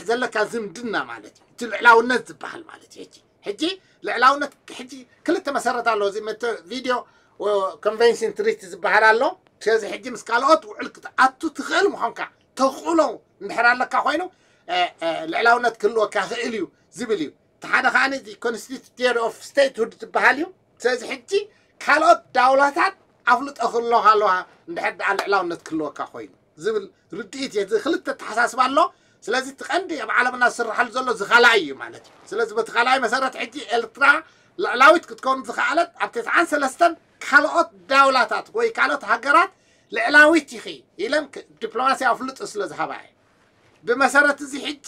ዘለካ ዝምድና ማለት እዩ። እቲ ልዕላውነት ዝበሃል ማለት እዩ። ሕጂ ሕጂ ልዕላውነት ሕጂ ክልተ መሰረት ኣለዎ። እዚ መተ ቪድዮ ኮንቨንሽን ትሪቲ ዝበሃል ኣሎ። ስለዚ ሕጂ ምስ ካልኦት ውዕል ክትኣቱ ትኽእል ምዃንካ ተኽእሎ እንድሕር ኣለካ ኮይኑ እ፣ እ፣ ልዕላውነት ክህልወካ ክእል እዩ ዝብል እዩ። እቲ ሓደ ከዓ እዚ ኮንስቲቱሽን ኦፍ ስቴትሁድ ዝበሃል እዩ። ስለዚ ሕጂ ካልኦት ዳውላታት ኣፍልጦ ክህልወካ ኣለዋ እንድሕር ደኣ ልዕላውነት ክህልወካ ኮይኑ ዝብል ርድኢት እየ። እዚ ክልተ ተሓሳስባ ኣሎ። ስለዚ እቲ ቀንዲ ኣብ ዓለምና ዝስርሓሉ ዘሎ እዚ ካልኣይ እዩ ማለት እዩ። ስለዚ በቲ ካልኣይ መሰረት ሕጂ ኤርትራ ልዕላዊት ክትከውን ዝኸኣለት ኣብ ተስዓን ሰለስተን ካልኦት ዳውላታት ወይ ካልኦት ሃገራት ልዕላዊት ኢኺ ኢለን ክ- ዲፕሎማስያዊ ኣፍልጦ ስለ ዝሃባ እየ። ብመሰረት እዚ ሕጂ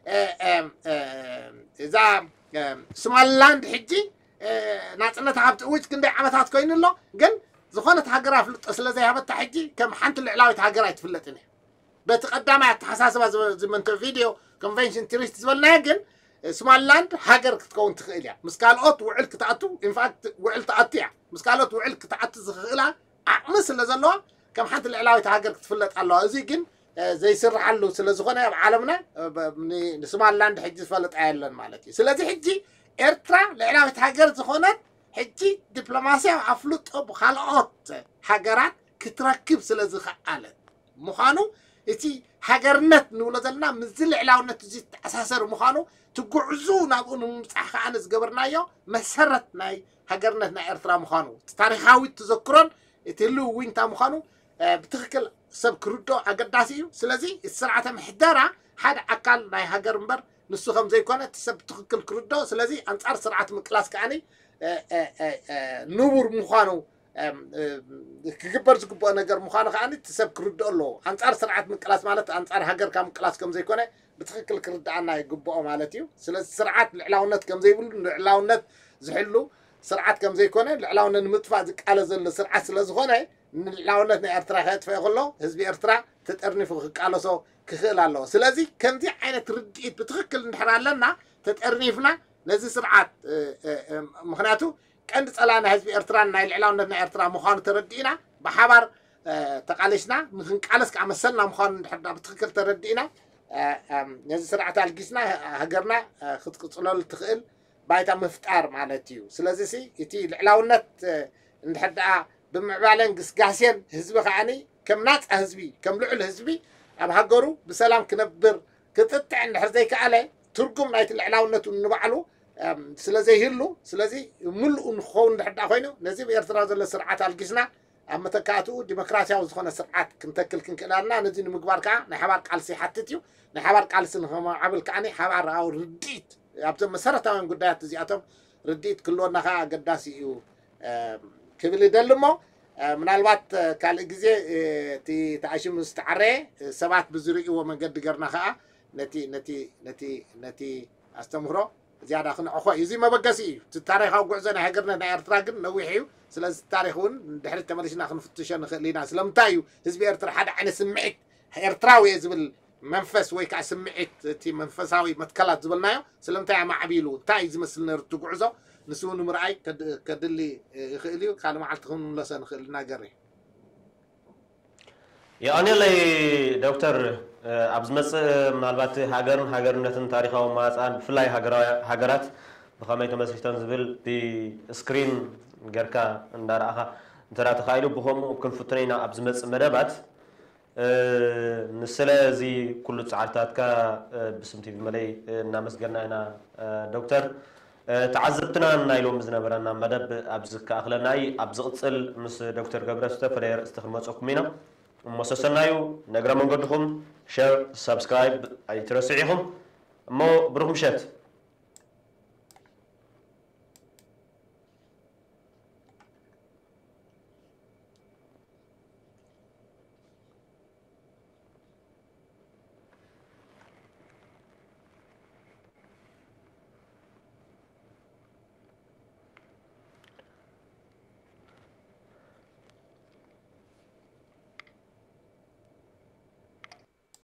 እ፣ እ፣ እ፣ እዛ እ፣ ሶማሊላንድ ሕጂ እ፣ ናፅነታ ካብ ትእውጅ ክንደይ ዓመታት ኮይኑ ኣሎ። ግን ዝኾነት ሃገር ኣፍልጦ ስለ ዘይሃበታ ሕጂ ከም ሓንቲ ልዕላዊት ሃገር ኣይትፍለጥን እያ። በቲ ቀዳማይ ኣተሓሳስባ ዝመንቶ ቪድዮ ኮንቨንሽን ትሪቲ ዝበልናዮ ግን እ፣ ሶማሊላንድ ሃገር ክትከውን ትኽእል እያ። ምስ ካልኦት ውዕል ክትኣቱ ኢንፋክት ውዕል ትኣቱ እያ። ምስ ካልኦት ውዕል ክትኣቱ ዝኽእላ ዓቕሚ ስለ ዘለዋ ከም ሓንቲ ልዕላዊት ሃገር ክትፍለጥ ኣለዋ። እዚ ግን እ፣ ዘይስርሓሉ ስለ ዝኾነ ኣብ ዓለምና እ፣ ብ- ን- ንሶማሊላንድ ሕጂ ዝፈለጣ የለን ማለት እዩ። ስለዚ ሕጂ ኤርትራ ልዕላዊት ሃገር ዝኾነት ሕጂ ዲፕሎማስያዊ ኣፍልጦ ብካልኦት ሃገራት ክትረክብ ስለ ዝኸኣለት ምዃኑ፣ እቲ ሃገርነት ንብሎ ዘለና ምስዚ ልዕላውነት እዚ ዝተኣሳሰር ምዃኑ፣ ትጉዕዙ ናብኡ ንምብጻሕ ከኣ ዝገበርናዮ መሰረት ናይ ሃገርነት ናይ ኤርትራ ምዃኑ፣ እቲ ታሪኻዊ ተዘክሮን እቲ ህልው ዊንታ ምዃኑ ብትኽክል ሰብ ክርዶ ኣገዳሲ እዩ። ስለዚ እቲ ስርዓተ ምሕደራ ሓደ ኣካል ናይ ሃገር እምበር ንሱ ከም ዘይኮነ እቲ ሰብ ብትኽክል ክርዶ። ስለዚ ኣንጻር ስርዓት ምቅላስ ከኣኒ ንቡር ምዃኑ ክግበር ዝግብኦ ነገር ምዃኑ ከኣኒ እቲ ሰብ ክርድኦ ኣለዎ። ኣንጻር ስርዓት ምቅላስ ማለት ኣንጻር ሃገርካ ምቅላስ ከም ዘይኮነ ብትኽክል ክርድኣና ይግብኦ ማለት እዩ። ስለዚ ስርዓት ልዕላውነት ከም ዘይብሉ፣ ልዕላውነት ዝሕሉ ስርዓት ከም ዘይኮነ፣ ልዕላውነት ንምጥፋእ ዝቃለ ዘሎ ስርዓት ስለ ዝኾነ፣ ንልዕላውነት ናይ ኤርትራ ከጥፍኦ ከሎ ህዝቢ ኤርትራ ተጠርኒፉ ክቃለሶ ክኽእል ኣለዎ። ስለዚ ከምዚ ዓይነት ርድኢት ብትኽክል እንድሕር ኣለና፣ ተጠርኒፍና ነዚ ስርዓት ምክንያቱ ቀንዲ ጸላእና ህዝቢ ኤርትራን ናይ ልዕላውነት ናይ ኤርትራ ምዃኑ ተረዲእና ብሓባር ተቃሊስና ንክንቃለስ ከዓ መሰልና ምዃኑ እንድሕር ብትኽክል ተረዲእና ነዚ ስርዓት ኣልጊስና ሃገርና ክትቅፅለሉ ትኽእል ባይታ ምፍጣር ማለት እዩ። ስለዚ እቲ ልዕላውነት እንድሕር ደኣ ብምዕባለን ግስጋሴን ህዝቢ ከዓኒ ከም ናፃ ህዝቢ ከም ልዑል ህዝቢ ኣብ ሃገሩ ብሰላም ክነብር ክጥጥዕ እንድሕር ዘይከኣለ ትርጉም ናይቲ ልዕላውነቱ ንባዕሉ ስለ ዘይህሉ ስለዚ ምሉእ ንክኸውን እንድሕር ደኣ ኮይኑ ነዚ ብኤርትራ ዘሎ ስርዓት ኣልጊስና ኣብ መተካእትኡ ዲሞክራሲያዊ ዝኾነ ስርዓት ክንተክል ክንክእል ኣለና። ነዚ ንምግባር ከዓ ናይ ሓባር ቃልሲ ይሓትት እዩ። ናይ ሓባር ቃልሲ ንኸማዕብል ከዓ ሓባራዊ ርድኢት ኣብዞም መሰረታውያን ጉዳያት እዚኣቶም ርድኢት ክህልወና ከዓ ኣገዳሲ እዩ ክብል ይደሊ እሞ ምናልባት ካልእ ግዜ እቲ ተኣሽሙ ዝተዓረየ ሰባት ብዝርእይዎ መንገዲ ገርና ከዓ ነቲ ነቲ ነቲ ነቲ ኣስተምህሮ ዝያዳ ክንዕኾ እዩ። እዚ መበገሲ እዩ። እቲ ታሪኻዊ ጉዕዞ ናይ ሃገርነት ናይ ኤርትራ ግን ነዊሕ እዩ። ስለዚ ታሪኽ እውን ድሕሪት ተመሊስና ክንፍትሾ ንኽእል ኢና። ስለምንታይ እዩ ህዝቢ ኤርትራ ሓደ ዓይነት ስምዒት ኤርትራዊ እየ ዝብል መንፈስ ወይ ከዓ ስምዒት እቲ መንፈሳዊ መትከላት ዝበልናዮ ስለምንታይ ኣማዕቢሉ እንታይ እዩ ዝመስል ነሩ እቲ ጉዕዞ ንሱ ንምርኣይ ከድሊ ይኽእል እዩ። ካልእ መዓልቲ ክንምለሶ ንኽእል ኢና ገሬ። የቐንየለይ ዶክተር፣ ኣብ ዝመፅእ ምናልባት ሃገርን ሃገርነትን ታሪኻዊ መዋፅኣን ብፍላይ ሃገራት ብኸመይ ተመስሪተን ዝብል ብስክሪን ጌርካ እንዳረኣኻ እንተ ተኻኢሉ ብኸምኡ ክንፍትኖ ኢና ኣብ ዝመፅእ መደባት። ንስለ እዚ ኩሉ ፃዕርታትካ ብስም ቲቪ መለይ እናመስገና ኢና ዶክተር። ተዓዘብትና ናይ ሎሚ ዝነበረና መደብ ኣብዚ ክኣኽለና እዩ። ኣብ ዝቕፅል ምስ ዶክተር ገብረ ዝተፈለየ ርእስቲ ክንመፀኩም ኢና። እሞ ሰሰናዩ ነግረ መንገድኹም ሸር ሳብስክራይብ ኣይትረስዑ ኢኹም። እሞ ብሩኽ ምሸት።